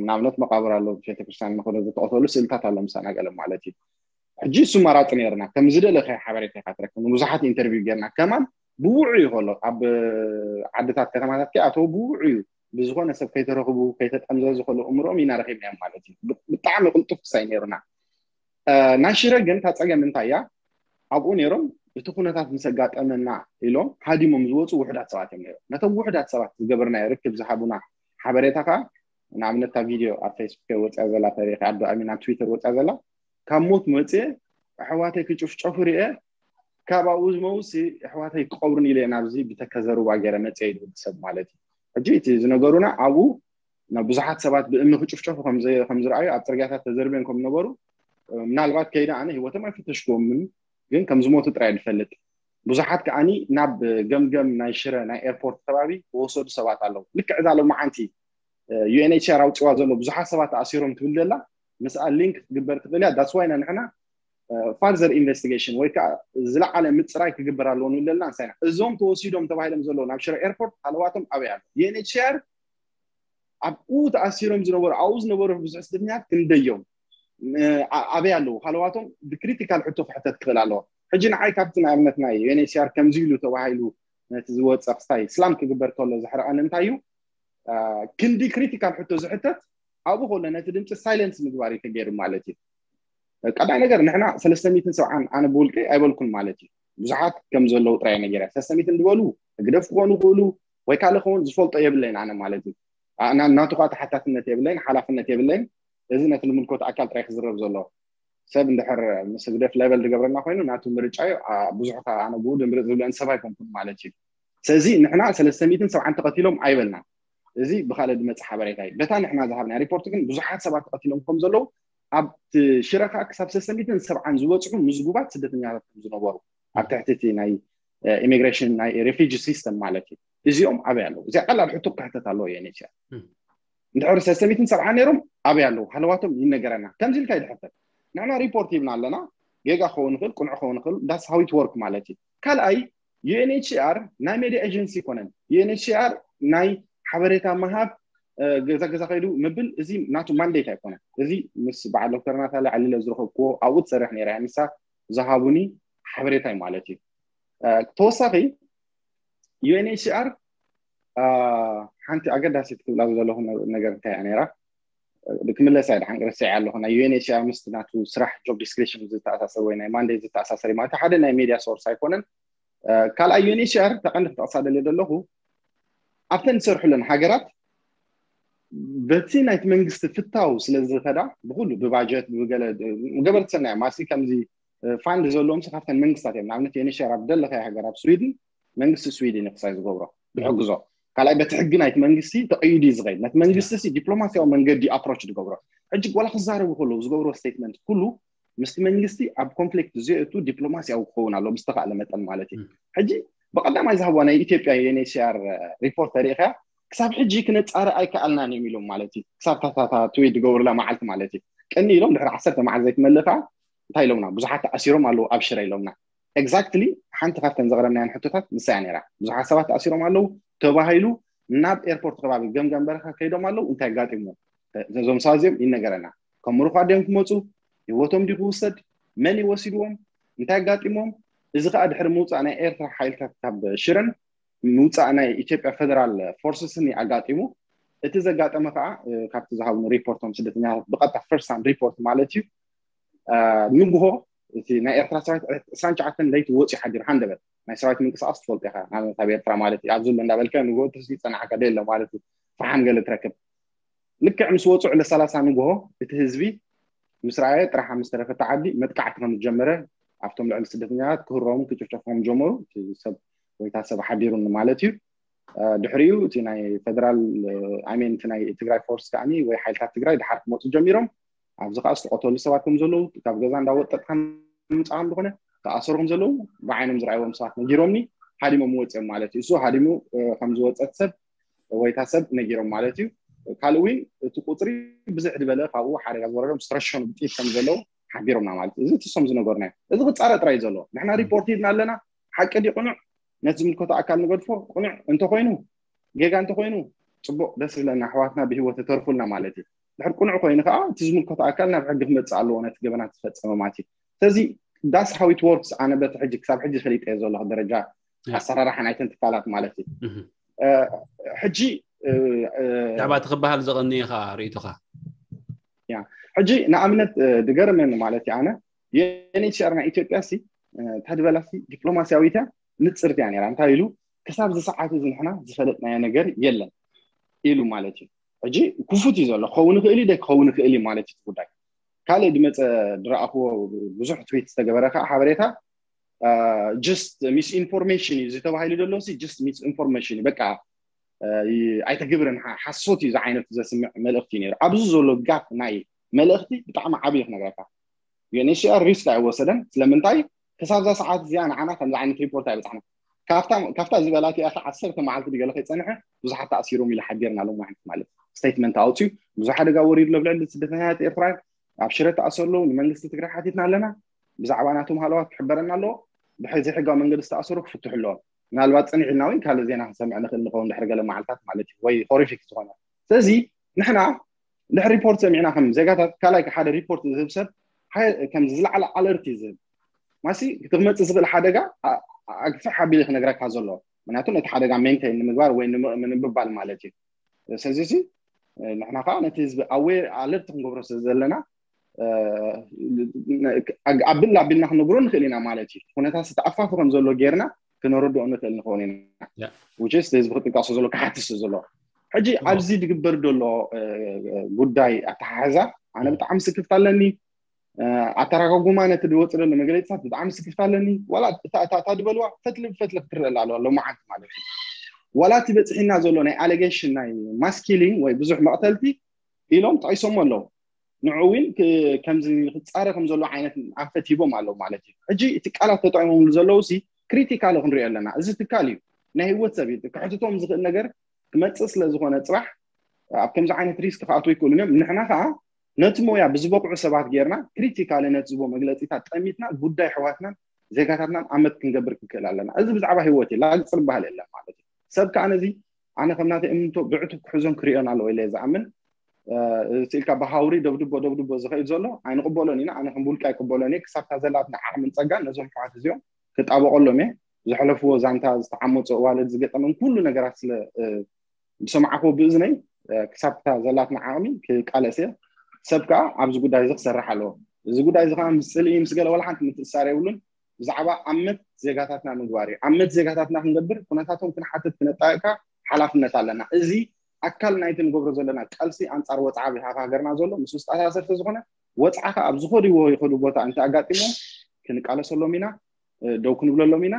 ንኣብነት መቃብር ኣሎ፣ ቤተክርስትያን መኸዶ ዝተቐተሉ ስእልታት ኣሎ ምሳና ገለ ማለት እዩ። ሕጂ እሱ መራፂ ነርና ከም ዝደለኸ ሓበሬታ ኢካ ትረክብ። ንብዙሓት ኢንተርቪው ጌርና ከማን ብውዑ እዩ ከሎ ኣብ ዓድታት ከተማታት ከይኣተው ብውዑ እዩ ብዝኾነ ሰብ ከይተረኽቡ ከይተጠምዘዙ ከሎ እምሮም ኢና ረኺብናዮም ማለት እዩ። ብጣዕሚ ቅልጡፍ ክሳይ ነርና። ናይ ሽረ ግን እታ ፀገም እንታይ እያ? ኣብኡ ነይሮም እቲ ኩነታት ምስ ኣጋጠመና ኢሎም ሃዲሞም ዝወፁ ውሑዳት ሰባት እዮም ነይሮም። ነቶም ውሑዳት ሰባት ዝገበርናዮ ርክብ ዝሃቡና ሓበሬታ ከዓ ንኣብነት እታ ቪድዮ ኣብ ፌስቡክ ወፅያ ዘላ ተሪኺ ኣዶ ኣሚን ኣብ ትዊተር ወፅያ ዘላ ካብ ሞት መፅየ ኣሕዋተይ ክጭፍጨፉ ርኤ ካብ ኣብኡ ዝመውሲ ኣሕዋተይ ክቀብሩን ኢለ ናብዚ ብተከዘ ሩባ ገይረ መፅየ ኢሉ ሰብ ማለት እዩ። ሕጂ እቲ ዝነገሩና ኣብኡ ናብ ብዙሓት ሰባት ብእምኒ ክጭፍጨፉ ከም ዝረኣዩ ኣብ ፅርግያታት ተዘርቢዮም ከም ነበሩ ምናልባት ከይደ ኣነ ህይወቶም ኣይፈተሽክዎምን ግን ከም ዝሞቱ ጥራይ ዝፈልጥ ብዙሓት ከዓኒ ናብ ገምገም ናይ ሽረ ናይ ኤርፖርት ከባቢ ዝወሰዱ ሰባት ኣለዉ። ልክዕ እዛ ሎማዓንቲ ዩኤንኤችሲኣር ኣውፅዋ ዘሎ ብዙሓት ሰባት ተኣሲሮም ትብል ዘላ ምስኣ ሊንክ ክትግበር ትኽእል እያ። ዳትስ ዋይ ኢና ንሕና ፋርዘር ኢንቨስቲጌሽን ወይ ከዓ ዝለዓለ ምፅራይ ክግበር ኣለዎ ንብል ዘለና ንሳይና እዞም ተወሲዶም ተባሂሎም ዘለዉ ናብ ሽረ ኤርፖርት ሃለዋቶም ኣበይ ኣሎ? ዩኤንኤችሲኣር ኣብኡ ተኣሲሮም ዝነበሩ ኣብኡ ዝነበሩ ብዙሕ ስደተኛታት ክንደዮም ኣበይ ኣለዉ? ሃለዋቶም ብክሪቲካል ሕቶ ክሕተት ክኽእል ኣለዎ። ሕጂ ንዓይ ካብቲ ንኣብነት ናይ ዩኤንኤችሲኣር ከምዚ ኢሉ ተባሂሉ ነቲ ዝወፀ ክስታይ ስላም ክግበር ከሎ ዘሕረቐኒ እንታይ እዩ? ክንዲ ክሪቲካል ሕቶ ዝሕተት ኣብኡ ከሎ ነቲ ድምፂ ሳይለንስ ምግባር እዩ ተገይሩ ማለት እዩ። ቀዳይ ነገር ንሕና ሰለስተ ሚእትን ሰብዓን ኣነ ብውልቀይ ኣይበልኩን ማለት እዩ። ብዙሓት ከም ዘለዉ ጥራይ ነገር እያ ሰለስተ ሚእትን ዝበሉ ህግደፍ ክኾኑ ይኽእሉ ወይ ካልእ ክኸውን ዝፈልጦ የብለይን ኣነ ማለት እዩ። ናቱ ከዓ ተሓታትነት የብለይን ሓላፍነት የብለይን። እዚ ነቲ ልምልኮት ኣካል ጥራይ ክዝረብ ዘለዎ ሰብ እንድሕር ምስ ህግደፍ ለበል ዝገብረና ኮይኑ ናቱ ምርጫ እዩ። ብዙሕ ከዓ ኣነ ብኡ ድምርፅ ዝብለን ሰብ ኣይኮንኩን ማለት እዩ። ስለዚ ንሕና ሰለስተ ሚእትን ሰብዓን ተቐቲሎም ኣይበልና። እዚ ብካልእ ዝመፅእ ሓበሬታ እዩ። በታ ንሕና ዝሃብና ሪፖርት ግን ብዙሓት ሰባት ተቐቲሎም ከም ዘለዉ ኣብቲ ሽረ ከዓ ክሳብ ሰለስተ ሚእትን ሰብዓን ዝበፅሑ ምዝጉባት ስደተኛታት ከም ዝነበሩ ኣብ ትሕቲ እቲ ናይ ኢሚግሬሽን ናይ ሬፊጂ ሲስተም ማለት እዩ። እዚኦም ኣበይ ኣለዉ? እዚኣ ቀላል ሕቶ ክሕተት ኣለዎ ዩኤንኤችሲኣር። እንድሕር ሰለስተ ሚእትን ሰብዓን ነይሮም ኣበይ ኣለዉ? ሃለዋቶም ይነገረና። ከምዚ ኢልካ ይድሕተት። ንሕና ሪፖርት ሂብና ኣለና። ጌጋ ክኸውን ይኽእል፣ ቅኑዕ ክኸውን ይኽእል፣ that's how it work ማለት እዩ። ካልኣይ ዩኤንኤችሲኣር ናይ ሜድያ ኤጀንሲ ኣይኮነን። ዩኤንኤችሲኣር ናይ ሓበሬታ ምሃብ ገዛ ገዛ ከይዱ ምብል እዚ ናቱ ማንዴት ኣይኮነን። እዚ ምስ በዓል ዶክተር ናታሊ ዓሊለ ዝረኸብክዎ ኣብኡ ትሰርሕ ነይራ እያ። ንሳ ዝሃቡኒ ሓበሬታ እዩ ማለት እዩ። ተወሳኺ ዩኤንኤችሲኣር ሓንቲ ኣገዳሲት ክብላ ዝደለኹ ነገር እንታይ እያ ነይራ? ክምለስ እያ ድሓን ረሲዐ ኣለኹ። ናይ ዩኤንኤችሲኣር ምስቲ ናቱ ስራሕ ጆብ ዲስክሪፕሽን ዝተኣሳሰር ወይ ናይ ማንዴት ዝተኣሳሰር ማለት ሓደ ናይ ሜድያ ሶርስ ኣይኮነን። ካልኣይ ዩኤንኤችሲኣር ተቐንዲ ክጠቕሳ ደልየ ዘለኹ ኣብተን ዝሰርሑለን ሃገራት በቲ ናይቲ መንግስቲ ፍታው ስለ ዝኸዳ ብኩሉ ብባጀት ብገለ ገበርቲ ሰናይ ማሲ ከምዚ ፋንድ ዘለዎም ካብተን መንግስታት እዮም። ንኣብነት ዩኤንኤችሲኣር ኣብ ደለካዮ ሃገር ኣብ ስዊድን መንግስቲ ስዊድን እዩ ክሳይ ዝገብሮ ዝሕግዞ። ካልኣይ በቲ ሕጊ ናይቲ መንግስቲ ተቐይዱ እዩ ዝኸይድ። ነቲ መንግስቲ ሲ ዲፕሎማሲያዊ መንገዲ ኣፕሮች ዝገብሮ። ሕጂ ዋላ ክዛረቡ ከለዉ ዝገብሮ ስቴትመንት ኩሉ ምስቲ መንግስቲ ኣብ ኮንፍሊክት ዘየእቱ ዲፕሎማሲያዊ ክኸውን ኣሎ ብዝተኻእለ መጠን ማለት እዩ። ሕጂ ብቐዳማይ ዝሃብዋ ናይ ኢትዮጵያ ዩኤንኤችሲኣር ሪፖርት ተሪኢኻ ክሳብ ሕጂ ክነፃረ ኣይከኣልናን እዮም ኢሎም ማለት እዩ። ክሳብ ታታታ ትዊት ዝገብሩላ መዓልቲ ማለት እዩ። ቅኒ ኢሎም ድሕሪ ዓሰርተ መዓልቲ ዘይትመልእ ከዓ እንታይ ኢሎምና? ብዙሓት ተኣሲሮም ኣለዉ ኣብ ሽረ ኢሎምና። ኤግዛክትሊ ሓንቲ ካብተን ዘቕረብናየን ሕቶታት ንሳ እያ ነይራ። ብዙሓት ሰባት ተኣሲሮም ኣለዉ ተባሂሉ ናብ ኤርፖርት ከባቢ ገምገም በረኻ ከይዶም ኣለዉ እንታይ ኣጋጢምዎም? እዞም ሰባት እዚኦም ይነገረና። ከም ምሩኳ ድዮም ክመፁ? ህይወቶም ድዩ ክውሰድ? መን እዩ ወሲድዎም? እንታይ ኣጋጢሞም? እዚ ከዓ ድሕሪ ምውፃእ ናይ ኤርትራ ሓይልታት ካብ ሽረን ምውፃእ ናይ ኢትዮጵያ ፌደራል ፎርስስን እዩ ኣጋጢሙ። እቲ ዘጋጠመ ከዓ ካብቲ ዝሃብኑ ሪፖርቶም ስደተኛታት ብቐጥታ ፈርስት ሃንድ ሪፖርት ማለት እዩ። ንግሆ እቲ ናይ ኤርትራ ሰራዊት ዕስራን ትሽዓተን ለይቲ ወፂኡ ሓዲሩ ሃንደበት ናይ ሰራዊት ምንቅስቃስ ትፈልጦ ኢኻ። ንኣብነት ኣብ ኤርትራ ማለት እዩ ኣብዚ ኣሎ እንዳበልካ ንግሆ ትርሲ ይፀናሓካ ደለ ማለት እዩ። ፈሓም ገለ ትረክብ። ልክዕ ምስ ወፁ ዕለት ሰላሳ ንግሆ እቲ ህዝቢ ምስ ረኣየ ጥራሕ ምስ ተረፈ እቲ ዓዲ መጥቃዕቲ ከም ዝጀመረ ኣብቶም ልዕሊ ስደተኛታት ክህሮም ክጭፍጨፎም ጀመሩ። እቲ ሰብ ወይታ ሰብ ሓቢሩኒ ማለት እዩ። ድሕሪኡ እቲ ናይ ፌደራል ኣሜን እቲ ናይ ትግራይ ፎርስ ከዓኒ ወይ ሓይልታት ትግራይ ድሓር ክመፁ ጀሚሮም። ኣብዚ ከዓ ዝተቐተሉ ሰባት ከም ዘለዉ ካብ ገዛ እንዳወጠጥካ ምፃ ከም ዝኾነ ተኣሰሩ ከም ዘለዉ ብዓይኖም ዝረኣይዎም ሰባት ነጊሮምኒ። ሃዲሞም ወፅኦም ማለት እዩ። እሱ ሃዲሙ ከም ዝወፀት ሰብ ወይታ ሰብ ነጊሮም ማለት እዩ። ካልእ እውን እቲ ቁፅሪ ብዝሕ ዝበለ ካብኡ ሓደጋ ዝወረዶም ዝተረሸኑ ብጥይት ከም ዘለዉ ሓቢሮምና ማለት እዩ። እዚ ትሶም ዝነገሩና እዩ። እዚ ክፃረ ጥራይ እዩ ዘለዎ። ንሕና ሪፖርት ሂብና ኣለና። ሓቂ ድዩ ቅኑዕ ነቲ ዝምልከቶ ኣካል ንገድፎ። ቅኑዕ እንተኮይኑ፣ ጌጋ እንተኮይኑ፣ ፅቡቅ፣ ደስ ዝብለና፣ ኣሕዋትና ብህይወት ተተርፉልና ማለት እዩ። ድሕር ቅኑዕ ኮይኑ ከዓ እቲ ዝምልከቶ ኣካል ናብ ሕጊ ክመፅእ ኣለዎ፣ ነቲ ገበናት ዝፈፀመ ማለት እዩ። ስለዚ that's how it works። ኣነ በቲ ሕጂ ክሳብ ሕጂ ፈሊጠ ዘለኹ ደረጃ ኣሰራርሓ ናይተን ትካላት ማለት እዩ። ሕጂ ብዛዕባ እቲ ክበሃል ዘቐንየ ከዓ ርእይቶኻ? ሕጂ ንኣብነት ድገርመኒ ማለት እዩ፣ ኣነ ዩኤንኤችሲኣር ናይ ኢትዮጵያ ሲ እንታይ ድበላ ሲ ዲፕሎማሲያዊት እያ፣ ንፅርቲ እያ ነራ። እንታይ ኢሉ? ክሳብ ዝሰዓት እዚ ንሕና ዝፈለጥናዮ ነገር የለን ኢሉ ማለት እዩ። ሕጂ ክፉት እዩ ዘሎ። ክኸውን ይኽእል እዩ፣ ክኸውን ይኽእል እዩ ማለት እዩ ጉዳይ። ካልእ ድመፀ ድረኣኽዎ ብዙሕ ትዊት ዝተገበረ ከዓ ሓበሬታ just misinformation እዩ ዝተባሂሉ ዘሎ ሲ just misinformation እዩ። በቃ ኣይተግብርን፣ ሓሶት እዩ ዝዓይነቱ ዘስምዕ መልእኽቲ እዩ ነይሩ። ኣብዚ ዘሎ ጋፕ ናይ መልእኽቲ ብጣዕሚ ዓብዪ ክነግረካ። ዩኤንኤችሲኣር ሪስክ ኣይወሰደን። ስለምንታይ? ክሳብዛ ሰዓት እዚኣ ንዓና ከምዚ ዓይነት ሪፖርት ኣይበፅሓና። ካብታ ዝበላ እቲኣ ዓሰርተ መዓልቲ ድገለ ከይፀንሐ ብዙሓት ተኣሲሮም ኢሉ ሓቢርና ሎም ማለት ማለት ስቴትመንት ኣውፅዩ። ብዙሕ ሓደጋ ወሪዱ ኣብ ልዕሊ ስደተኛታት ኤርትራውያን ኣብ ሽረ ተኣሰሩ ኣለዉ። ንመንግስቲ ትግራይ ሓቲትና ኣለና። ብዛዕባ ናቶም ሃለዋት ክሕበረና ኣለዎ። ብዘይሕጋዊ መንገዲ ዝተኣሰሩ ክፍትሑ ኣለዎም። ምናልባት ፅንሕ ኢልና እውን ካልእ ዜና ክንሰምዕ ንኽእል ንኸውን ድሕሪ ገለ መዓልታት ማለት እዩ፣ ወይ ሆሪፊክ ዝኾነ። ስለዚ ንሕና ድሕሪ ሪፖርት ሰሚዕና ከም ዜጋታት ካልኣይ ሓደ ሪፖርት ዝህብ ሰብ ከም ዝለዓለ ኣለርት እዩ ዝህብ። ማሲ ክመፅእ ዝኽእል ሓደጋ ኣግፍሕ ኣቢሉ ክነግረካ ዘሎ፣ ምክንያቱ ነቲ ሓደጋ ሜንቴን ንምግባር ወይ ንምባል ማለት እዩ። ስለዚ ንሕና ከዓ ነቲ ህዝቢ ኣዌር ኣለርት ክንገብሮ ስለ ዘለና ኣብል ኣቢልና ክንነግሮ ንኽእል ኢና ማለት እዩ። ኩነታት ዝተኣፋፉ ከም ዘሎ ጌርና ክነረድኦ ንኽእል ንኸውን ኢና። ህዝቢ ክጥንቀቅ ስለ ዘሎ ክሓትት ስለ ዘለዎ ሕጂ ኣብዚ ድግበር ዘሎ ጉዳይ ኣተሓሕዛ ኣነ ብጣዕሚ ስክፍታ ኣለኒ። ኣተራጓጉማ ነቲ ድወፅ ዘሎ መግለፂታት ብጣዕሚ ስክፍታ ኣለኒ። ዋላ እታ ድበልዋ ፈትሊ ብፈትሊ ክትረአ ኣለዋ ሎማዓንቲ ማለት እዩ። ዋላ እቲ በፂሕና ዘሎ ናይ ኣሌጌሽን ናይ ማስ ኪሊንግ ወይ ብዙሕ መቕተልቲ ኢሎም ጠቂሶሞ ኣለዉ። ንዑ እውን ከምዚ ክፃረ ከም ዘሎ ዓይነት ኣንፈት ሂቦም ኣለዉ ማለት እዩ። ሕጂ እቲ ቃላት ተጠቂሞምሉ ዘለዉ ሲ ክሪቲካሊ ክንሪኦ ኣለና። እዚ ትካል እዩ፣ ናይ ህይወት ሰብ እዩ። ክሕትቶም ዝኽእል ነገር ክመፅእ ስለ ዝኾነ ፅባሕ ኣብ ከምዚ ዓይነት ሪስክ ክኣትዉ ይክእሉን እዮም። ንሕና ከዓ ነቲ ሞያ ብዝበቕዑ ሰባት ጌርና ክሪቲካሊ ነቲ ዝቦ መግለፂታት ጠሚትና ጉዳይ ኣሕዋትናን ዜጋታትናን ኣመት ክንገብር ክንክእል ኣለና። እዚ ብዛዕባ ህይወት እዩ፣ ላግፅር ዝበሃል የለን ማለት እዩ። ሰብ ከዓ ነዚ ኣነ ከም ናተይ እምንቶ ብዕቱብ ክሕዞን ክሪኦን ኣለዎ ኢለ ዝኣምን። ስኢልካ ብሃውሪ ደብድቦ ደብድቦ ዝኸይድ ዘሎ ኣይንቕበሎን ኢና። ኣነ ከም ብውልቂ ኣይቅበሎን እየ። ክሳብታ ዘላትና ዓቕምን ፀጋን ነዞም ኣሕዋት እዚኦም ክጣበቐሎም እየ። ዝሐለፍዎ ዛንታ፣ ዝተዓመፁ ኣዋልድ፣ ዝገጠመን ኩሉ ነገራት ስለ ዝሰማዕክዎ ብእዝነይ ክሳብታ ዘላትና ዓቕሚ ክቃለስ እየ። ሰብ ከዓ ኣብዚ ጉዳይ እዚ ክሰርሕ ኣለዎ። እዚ ጉዳይ እዚ ከዓ ምስ ፅልኢ ምስ ገለ ዋላ ሓንቲ ምትእሳር የብሉን። ብዛዕባ ኣመት ዜጋታትና ምግባር እዩ። ኣመት ዜጋታትና ክንገብር ኩነታቶም ክንሓትት ክነጣየቅካ ሓላፍነት ኣለና። እዚ ኣካል ናይቲ ንገብሮ ዘለና ቃልሲ ኣንፃር ወፅዓ ኣብ ሃገርና ዘሎ ምስ ዝተኣሳሰር ስለዝኾነ ወፅዓ ከዓ ኣብ ዝኸድዎ ይኸዱ ቦታ እንተ ኣጋጢሞ ክንቃለሰሎም ኢና፣ ደው ክንብለሎም ኢና።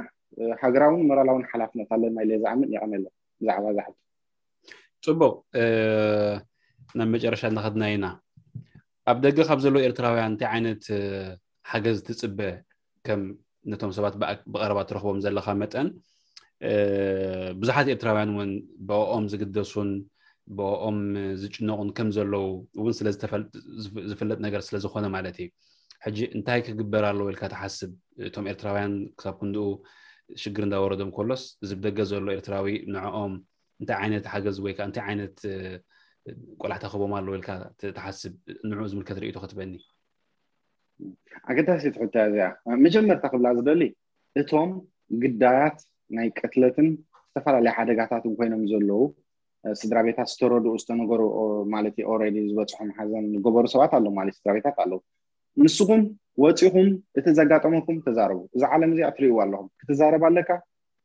ሃገራውን ሞራላውን ሓላፍነት ኣለና ኢለ ዝኣምን። የቐነለ ብዛዕባ እዛ ሕቶ። ፅቡቅ፣ ናብ መጨረሻ እናኸድና ኢና። ኣብ ደገ ካብ ዘለዉ ኤርትራውያን እንታይ ዓይነት ሓገዝ ትፅበ? ከም ነቶም ሰባት ብቀረባ ትረኽቦም ዘለኻ መጠን ብዙሓት ኤርትራውያን እውን ብኦም ዝግደሱን ብኦም ዝጭነቑን ከም ዘለዉ እውን ስለ ዝፍለጥ ነገር ስለ ዝኾነ ማለት እዩ። ሕጂ እንታይ ክግበር ኣለዎ ኢልካ ትሓስብ? እቶም ኤርትራውያን ክሳብ ክንድኡ ሽግር እንዳወረዶም ከሎስ እዚ ብደገ ዘሎ ኤርትራዊ ንዕኦም እንታይ ዓይነት ሓገዝ ወይ ከዓ እንታይ ዓይነት ቆላሕታ ክህቦም ኣለዎ ኢልካ ትሓስብ? ንዕኡ ዝምልከት ርእይቶ ክትበኒ። ኣገዳሲት ሕቶ እዚኣ። መጀመርታ ክብላ ዝደሊ እቶም ግዳያት ናይ ቅትለትን ዝተፈላለዩ ሓደጋታትን ኮይኖም ዘለዉ ስድራ ቤታት ዝተረድኡ ዝተነገሩ ማለት እዩ። ኦልሬዲ ዝበፅሖም ሓዘን ዝገበሩ ሰባት ኣለዉ ማለት ስድራ ቤታት ኣለዉ። ንስኹም ወፂኹም እቲ ዘጋጠመኩም ተዛረቡ። እዛ ዓለም እዚኣ ትርእይዋ ኣለኹም። ክትዛረብ ኣለካ።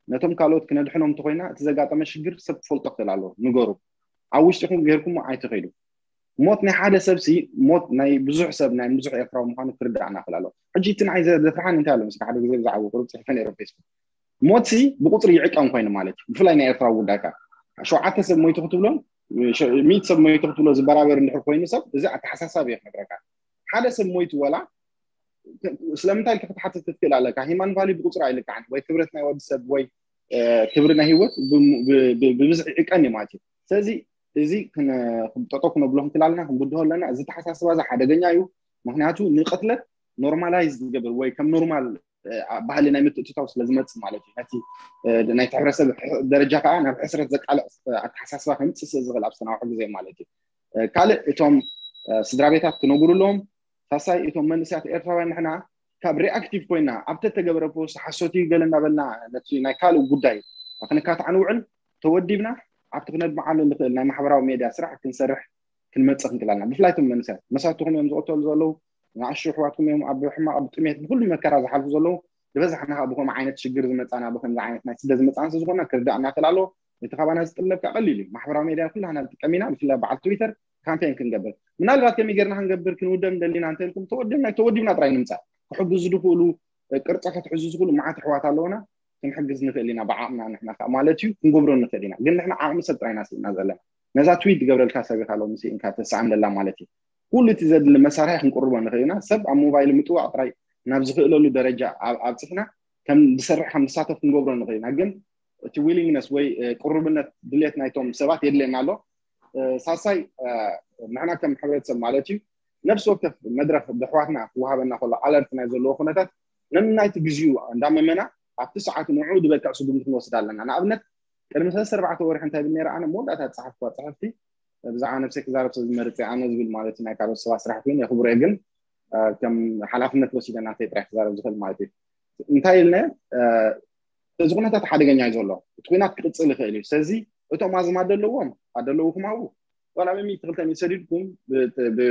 ነቶም ካልኦት ክነድሕኖም እንተኮይና እቲ ዘጋጠመ ሽግር ሰብ ክፈልጦ ክእል ኣለዎ። ንገሩ። ኣብ ውሽጢኹም ጌርኩሞ ኣይትኸይዱ። ሞት ናይ ሓደ ሰብ ሲ ሞት ናይ ብዙሕ ሰብ ናይ ብዙሕ ኤርትራዊ ምዃኑ ክርዳእና ክእል ኣለዎ። ሕጂ እቲ ንዓይ ዘፍርሓኒ እንታይ ኣሎ ምስ ሓደ ግዜ ብዛዕባ ቁሩብ ፅሒፈ ነይረ ፌስቡክ። ሞት ሲ ብቁፅሪ ይዕቀን ኮይኑ ማለት እዩ። ብፍላይ ናይ ኤርትራዊ ጉዳይ ከ ሸውዓተ ሰብ ሞይቱ ክትብሎን ሚእቲ ሰብ ሞይቱ ክትብሎ ዝበራበር እንድሕር ኮይኑ ሰብ እዚ ኣተሓሳሳቢ እየ ክነግረካ። ሓደ ሰብ ሞይቱ ወላ ስለምንታይ ኢልካ ክትሓትት ክትክእል ኣለካ። ሂማን ቫሊ ብቁፅሪ ኣይልካዕን ወይ ክብረት ናይ ወዲ ሰብ ወይ ክብሪ ናይ ህይወት ብብዝሒ ይዕቀን እዩ ማለት እዩ። ስለዚ እዚ ጠጠው ክነብሎ ክንክእል ኣለና፣ ክንብድሆ ኣለና። እዚ ተሓሳስባ እዚ ሓደገኛ እዩ። ምክንያቱ ንቅትለት ኖርማላይዝ ዝገብር ወይ ከም ኖርማል እ፣ ባህሊ ናይ ምትእትታው ስለ ዝመጽእ ማለት እዩ። ነቲ፣ እ፣ ናይቲ ሕብረተሰብ ሕ-፣ ደረጃ ከዓ ናብ ሕስረት ዘቃልዕ፣ እ፣ ኣተሓሳስባ ከምጽእ ስለ ዝኽእል ኣብ ዝተናውሐ ግዜ ማለት እዩ። እ፣ ካልእ እቶም፣ እ፣ ስድራ ቤታት ክነግሩ ኣለዎም። ሳሳይ እቶም መንእሰያት ኤርትራውያን ንሕና ካብ ሪኣክቲቭ ኮይና ኣብ ተተገበረ ፖስት ሓሶት እዩ ገለ እናበልና ነቲ ናይ ካልእ ጉዳይ ክንካታዕ ንውዕል። ተወዲብና ኣብቲ ክነድምዓሉ ንኽእል ናይ ማሕበራዊ ሜድያ ስራሕ ክንሰርሕ ክንመጽእ ክንክላልና። ብፍላይ እቶም መንእሰያት መሳትኹም እዮም ዝቐተሉ ዘለዉ፣ ንኣሽቱ ኣሕዋትኩም እዮም ኣብ ሕማቕ፣ ኣብ ጥሜት፣ ብኩሉ መከራ ዝሓልፉ ዘለዉ። ዝበዛሕና ከዓ ብኸምኡ ዓይነት ሽግር ዝመጻና፣ ብኸምዚ ዓይነት ናይ ስደት ዝመጻና ስለ ዝኾንና ክርዳእ እናተላሎ፣ እቲ ካባና ዝጥለብ ከዓ ቀሊል እዩ። ማሕበራዊ ሜድያ ኩላህና ንጥቀም ኢና፣ ብፍላይ በዓል ትዊተር ካምፔን ክንገብር። ምናልባት ከመይ ጌርና ክንገብር ክንውደብ እንደሊና እንተልኩም፣ ተወዲብና፣ ተወዲብና ጥራይ ንምጻእ። ክሕግዙ ዝኽእሉ፣ ቅርጺ ክትሕዙ ዝኽእሉ መዓት ኣሕዋት ኣለውና፣ ክንሕግዝ ንኽእል ኢና ብዓቕምና ንሕና ከዓ ማለት እዩ፣ ክንገብሮ ንኽእል ኢና። ግን ንሕና ዓቕሚ ሰብ ጥራይ ኢና ስኢና ዘለና። ነዛ ትዊት ዝገብረልካ ሰብ ኢኻ ሎሚ ስኢንካ ተስኣን ደላ ማለት እዩ። ኩሉ እቲ ዘድሊ መሳርሒ ክንቅርቦ ንኽእል ኢና። ሰብ ኣብ ሞባይል ምጥዋቕ ጥራይ ናብ ዝኽእለሉ ደረጃ ኣብ-፣ ኣብጺሕና ከም ዝሰርሕ፣ ከም ዝሳተፍ ክንገብሮ ንኽእል ኢና። ግን እቲ ዊሊንግነስ ወይ፣ እ፣ ቅሩብነት፣ ድሌት ናይቶም ሰባት የድልየና ኣሎ። እ፣ ሳልሳይ፣ እ፣ ንሕና ከም ሕብረተሰብ ማለት እዩ፣ ነፍሲ ወከፍ መድረኽ ብኣሕዋትና ክወሃበና ከሎ፣ ኣለርት ናይ ዘለዎ ኩነታት ነናይቲ ግዜኡ እንዳመመና ኣብቲ ሰዓቱ ንዕኡ ዝበቅዕ ስጉምቲ ክንወስድ ኣለና። ንኣብነት ቅድሚ ሰለስተ ኣርባዕተ ወርሒ እንታይ ብል ነይረ፣ ኣነ መወዳእታ ዝጸሓፍኩዋ ጽሕፍቲ ብዛዕባ ነብሰይ ክዛረብ ስለ ዝመርጽ እየ፣ ኣነ ዝብል ማለት እዩ፣ ናይ ካልኦት ሰባት ስራሕ ኮይኑ የኽብሮ እየ፣ ግን፣ እ፣ ከም ሓላፍነት ወሲደ ናተይ ጥራይ ክዛረብ ዝኽእል ማለት እዩ። እንታይ ኢልነ፣ እ፣ እዚ ኩነታት ሓደገኛ እዩ ዘሎ፣ እቲ ኩናት ክቕጽል ይኽእል እዩ። ስለዚ እቶም ኣዝማድ ዘለዎም ኣደለውኩም ኣብኡ፣ ዋላ ብሚእቲ ክልተ ሚእቲ ሰዲድኩም ብ-፣ ብ-፣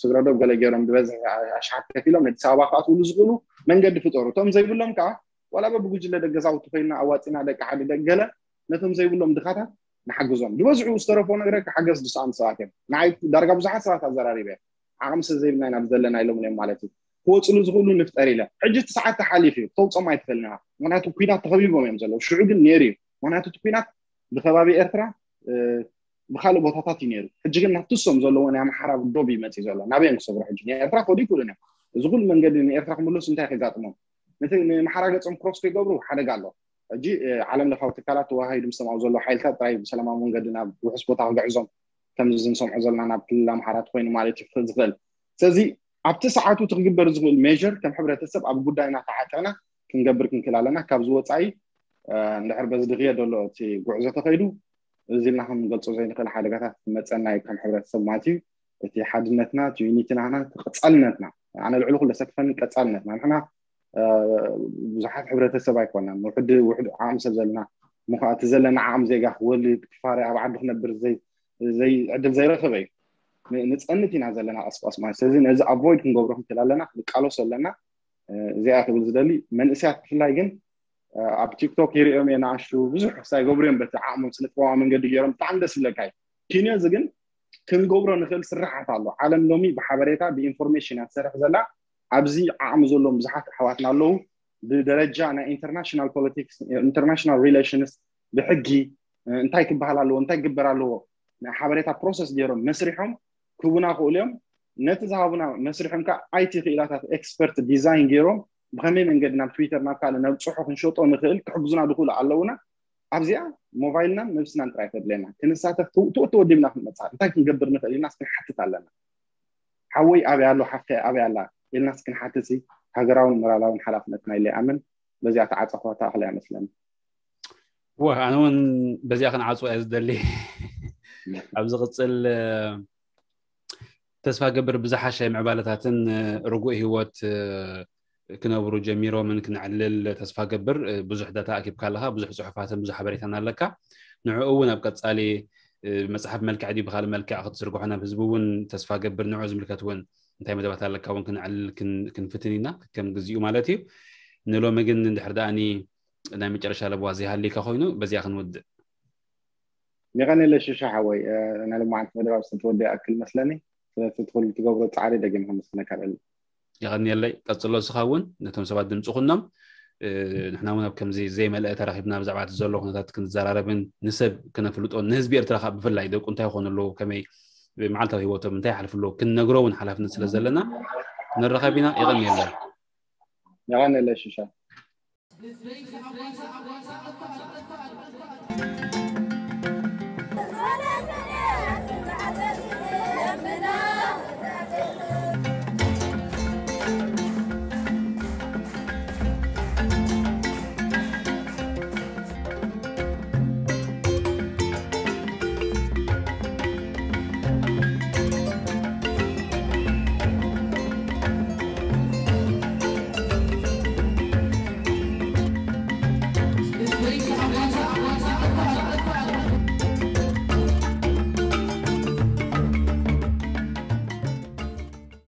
ስግረ ዶብ ገለ ገይሮም ብበዝሒ ኣሽሓት ከፊሎም ኣዲስ ኣበባ ክኣትውሉ ዝኽእሉ መንገዲ ፍጠሩ። እቶም ዘይብሎም ከዓ ዋላ በብጉጅለ ደገዛውቲ ኮይና ኣዋፂና ደቂ ሓደ ደገለ ነቶም ዘይብሎም ድኻታት ንሓግዞም። ዝበዝሑ ዝተረፎ ነገር ሓገዝ ዝሰኣኑ ሰባት እዮም። ንዓይ ዳርጋ ብዙሓት ሰባት ኣዘራሪበ፣ ዓቕሚ ስለ ዘይብልና ኢና ኣብዚ ዘለና ኢሎም እዮም ማለት እዩ። ክወፅሉ ዝኽእሉ ንፍጠር ኢለ። ሕጂ እቲ ሰዓት ተሓሊፉ እዩ፣ ክተውፅኦም ኣይትኽእልን ኢኻ። ምክንያቱ ኩናት ተኸቢቦም እዮም ዘለዉ። ሽዑ ግን ነይሩ እዩ። ምክንያቱ እቲ ኩናት ብከባቢ ኤርትራ፣ እ፣ ብካልእ ቦታታት እዩ ነይሩ። ሕጂ ግን ናብቲ እሶም ዘለዎ ናይ ኣምሓራ ዶብ እዩ መፅዩ ዘሎ። ናበይ እዮም ክሰግሩ ሕጂ? ንኤርትራ ክኸዱ ይኽእሉን እዮም። እዚ ኩሉ መንገዲ ንኤርትራ ክምለሱ እንታይ ከጋጥሞም? ነቲ ንኣምሓራ ገፆም ክሮስ ከይገብሩ ሓደጋ ኣሎ። ሕጂ፣ እ፣ ዓለም ለኻዊ ትካላት ተዋሃሂዱ ምስቶም ኣብ ዘለዉ ሓይልታት ጥራይ ብሰላማዊ መንገዲ ናብ ውሑስ ቦታ ክግዕዞም፣ ከምዚ ንሰምዖ ዘለና ናብ ክልል ኣምሓራ ተኮይኑ ማለት እዩ ክኽእል ዝኽእል። ስለዚ ኣብቲ ሰዓቱ እቲ ክግበር ዝኽእል ሜዥር ከም ሕብረተሰብ ኣብ ጉዳይና ተዓጢቕና ክንገብር ክንክእል ኣለና። ካብዚ ወፃኢ፣ እ፣ እንድሕር በዚ ድኽየ ዘሎ እቲ ጉዕዞ ተኸይዱ፣ እዚ ኢልና ክንገልጾ ዘይንኽእል ሓደጋታት ክመፀና እዩ ከም ሕብረተሰብ ማለት እዩ። እቲ ሓድነትና፣ እቲ ዩኒቲና፣ እቲ ቀጻልነትና፣ ኣነ ልዕሊ ኩሉ ዘሰክፈኒ ቀጻልነትና። ንሕና፣ እ፣ ብዙሓት ሕብረተሰብ ኣይኮናን፣ ውሕድ፣ ውሕድ ዓቕሚ ሰብ ዘለና፣ እሞ ከዓ እቲ ዘለና ዓቕሚ ዜጋ ክወልድ፣ ክፋረ፣ ኣብ ዓዲ ክነብር ዘይ-፣ ዘይ-፣ ዕድል ዘይረኸበ እዩ። ን-፣ ንጸንት ኢና ዘለና ቀስቀስ ማለት። ስለዚ ነዚ ኣቮይድ ክንገብሮ ክንክእል ኣለና፣ ክንቃለሶ ኣለና። እ፣ እዚኣ ክብል ዝደሊ፣ መንእሰያት ብፍላይ ግን፣ እ፣ ኣብ ቲክቶክ ይሪኦም እየ ንኣሽቱ ብዙሕ ሳይገብሩ እዮም፣ በቲ ዓቕሞም ስነ ጥበባዊ መንገዲ ገይሮም ብጣዕሚ ደስ ይብለካ እዩ። ኪንዮ እዚ ግን ክንገብሮ ንኽእል ስራሓት ኣሎ። ዓለም ሎሚ ብሓበሬታ ብኢንፎርሜሽን እያ ትሰርሕ ዘላ። ኣብዚ ዓቕሚ ዘለዎም ብዙሓት ኣሕዋትና ኣለዉ። ብደረጃ ናይ ኢንተርናሽናል ፖለቲክስ፣ ኢንተርናሽናል ሪሌሽንስ፣ ብሕጊ፣ እ፣ እንታይ ክበሃል ኣለዎ፣ እንታይ ክግበር ኣለዎ፣ ናይ ሓበሬታ ፕሮሰስ ገይሮም መስሪሖም ክህቡና ክእሉ እዮም። ነቲ ዝሃቡና መስሪሖም ከዓ ኣይቲ ክኢላታት ኤክስፐርት ዲዛይን ገይሮም ብኸመይ መንገዲ ናብ ትዊተር፣ ናብ ካልእ፣ ናብ ጽሑፍ ክንሸጦ ንኽእል ክሕግዙና ዝኽእሉ ኣለዉና። ኣብዚኣ ሞባይልናን ነብስናን ጥራይ ተድልየና። ክንሳተፍ ትው-፣ ትው-፣ ተወዲብና ክንመጽእ፣ እንታይ ክንገብር ንኽእል ኢልና እስኪ ንሓትት ኣለና። ሓወይ ኣበይ ኣሎ፣ ሓፍተይ ኣበይ ኣላ ኢልና እስኪ ንሓትት፣ ሃገራውን ሞራላውን ሓላፍነትና ኢለ ይኣምን። በዚኣ ተዓጸኽዋ ተኣኽለ ይመስለኒ። ወ፣ ኣነ እውን በዚኣ ክንዓጽዋ እየ ዝደሊ። ኣብ ዝቕጽል፣ እ፣ ተስፋ ገብር ብዝሓሸ ምዕባለታትን፣ እ፣ ርጉእ ህይወት፣ እ፣ ክነብሩ ጀሚሮምን ክነዕልል ተስፋ ገብር። እ፣ ብዙሕ ዳታ ኣኪብካ ኣለኻ፣ ብዙሕ ጽሑፋትን ብዙሕ ሓበሬታን ኣለካ። ንዕኡ እውን ኣብ ቀጻሊ፣ እ፣ መጽሓፍ መልክዕ ድዩ ብኻልእ መልክዕ ክትዝርግሖ ናብ ህዝቢ እውን ተስፋ ገብር። ንዕኡ ዝምልከት እውን እንታይ መደባት ኣለካ እውን ክነዕልል ክን-፣ ክንፍትን ኢና ከም ግዚኡ ማለት እዩ። ንሎሚ ግን እንድሕር ደኣኒ ናይ መጨረሻ ለበዋ ዘይሃልይካ ኮይኑ በዚኣ ክንውድእ። የቐንየለይ ሽሻ ሓወይ፣ እ፣ ናይ ሎማዓንቲ መደብ ኣብ ዝተወደኣ ይኣክል መስለኒ። ስለቲ እቲ ኩሉ ትገብሮ ጻዕሪ ደጊም ከመስግነካ እደሊ። የቐንየለይ። ቀጽሎ እስኻ እውን ነቶም ሰባት ድምጺ ኩኖም። እ፣ ንሕና እውን ኣብ ከምዚ ዘይመልአ ተራኺብና ብዛዕባ እቲ ዘሎ ኩነታት ክንዘራረብን ንሰብ ክነፍልጦን ንህዝቢ ኤርትራ ከዓ ብፍላይ ደቁ እንታይ ይኾኑ ኣለዉ፣ ከመይ መዓልታዊ ህይወቶም እንታይ ይሓልፉ ኣለዉ ክንነግሮ እውን ሓላፍነት ስለ ዘለና ንራኸብ ኢና። የቐንየለይ። የቐንየለይ ሽሻ።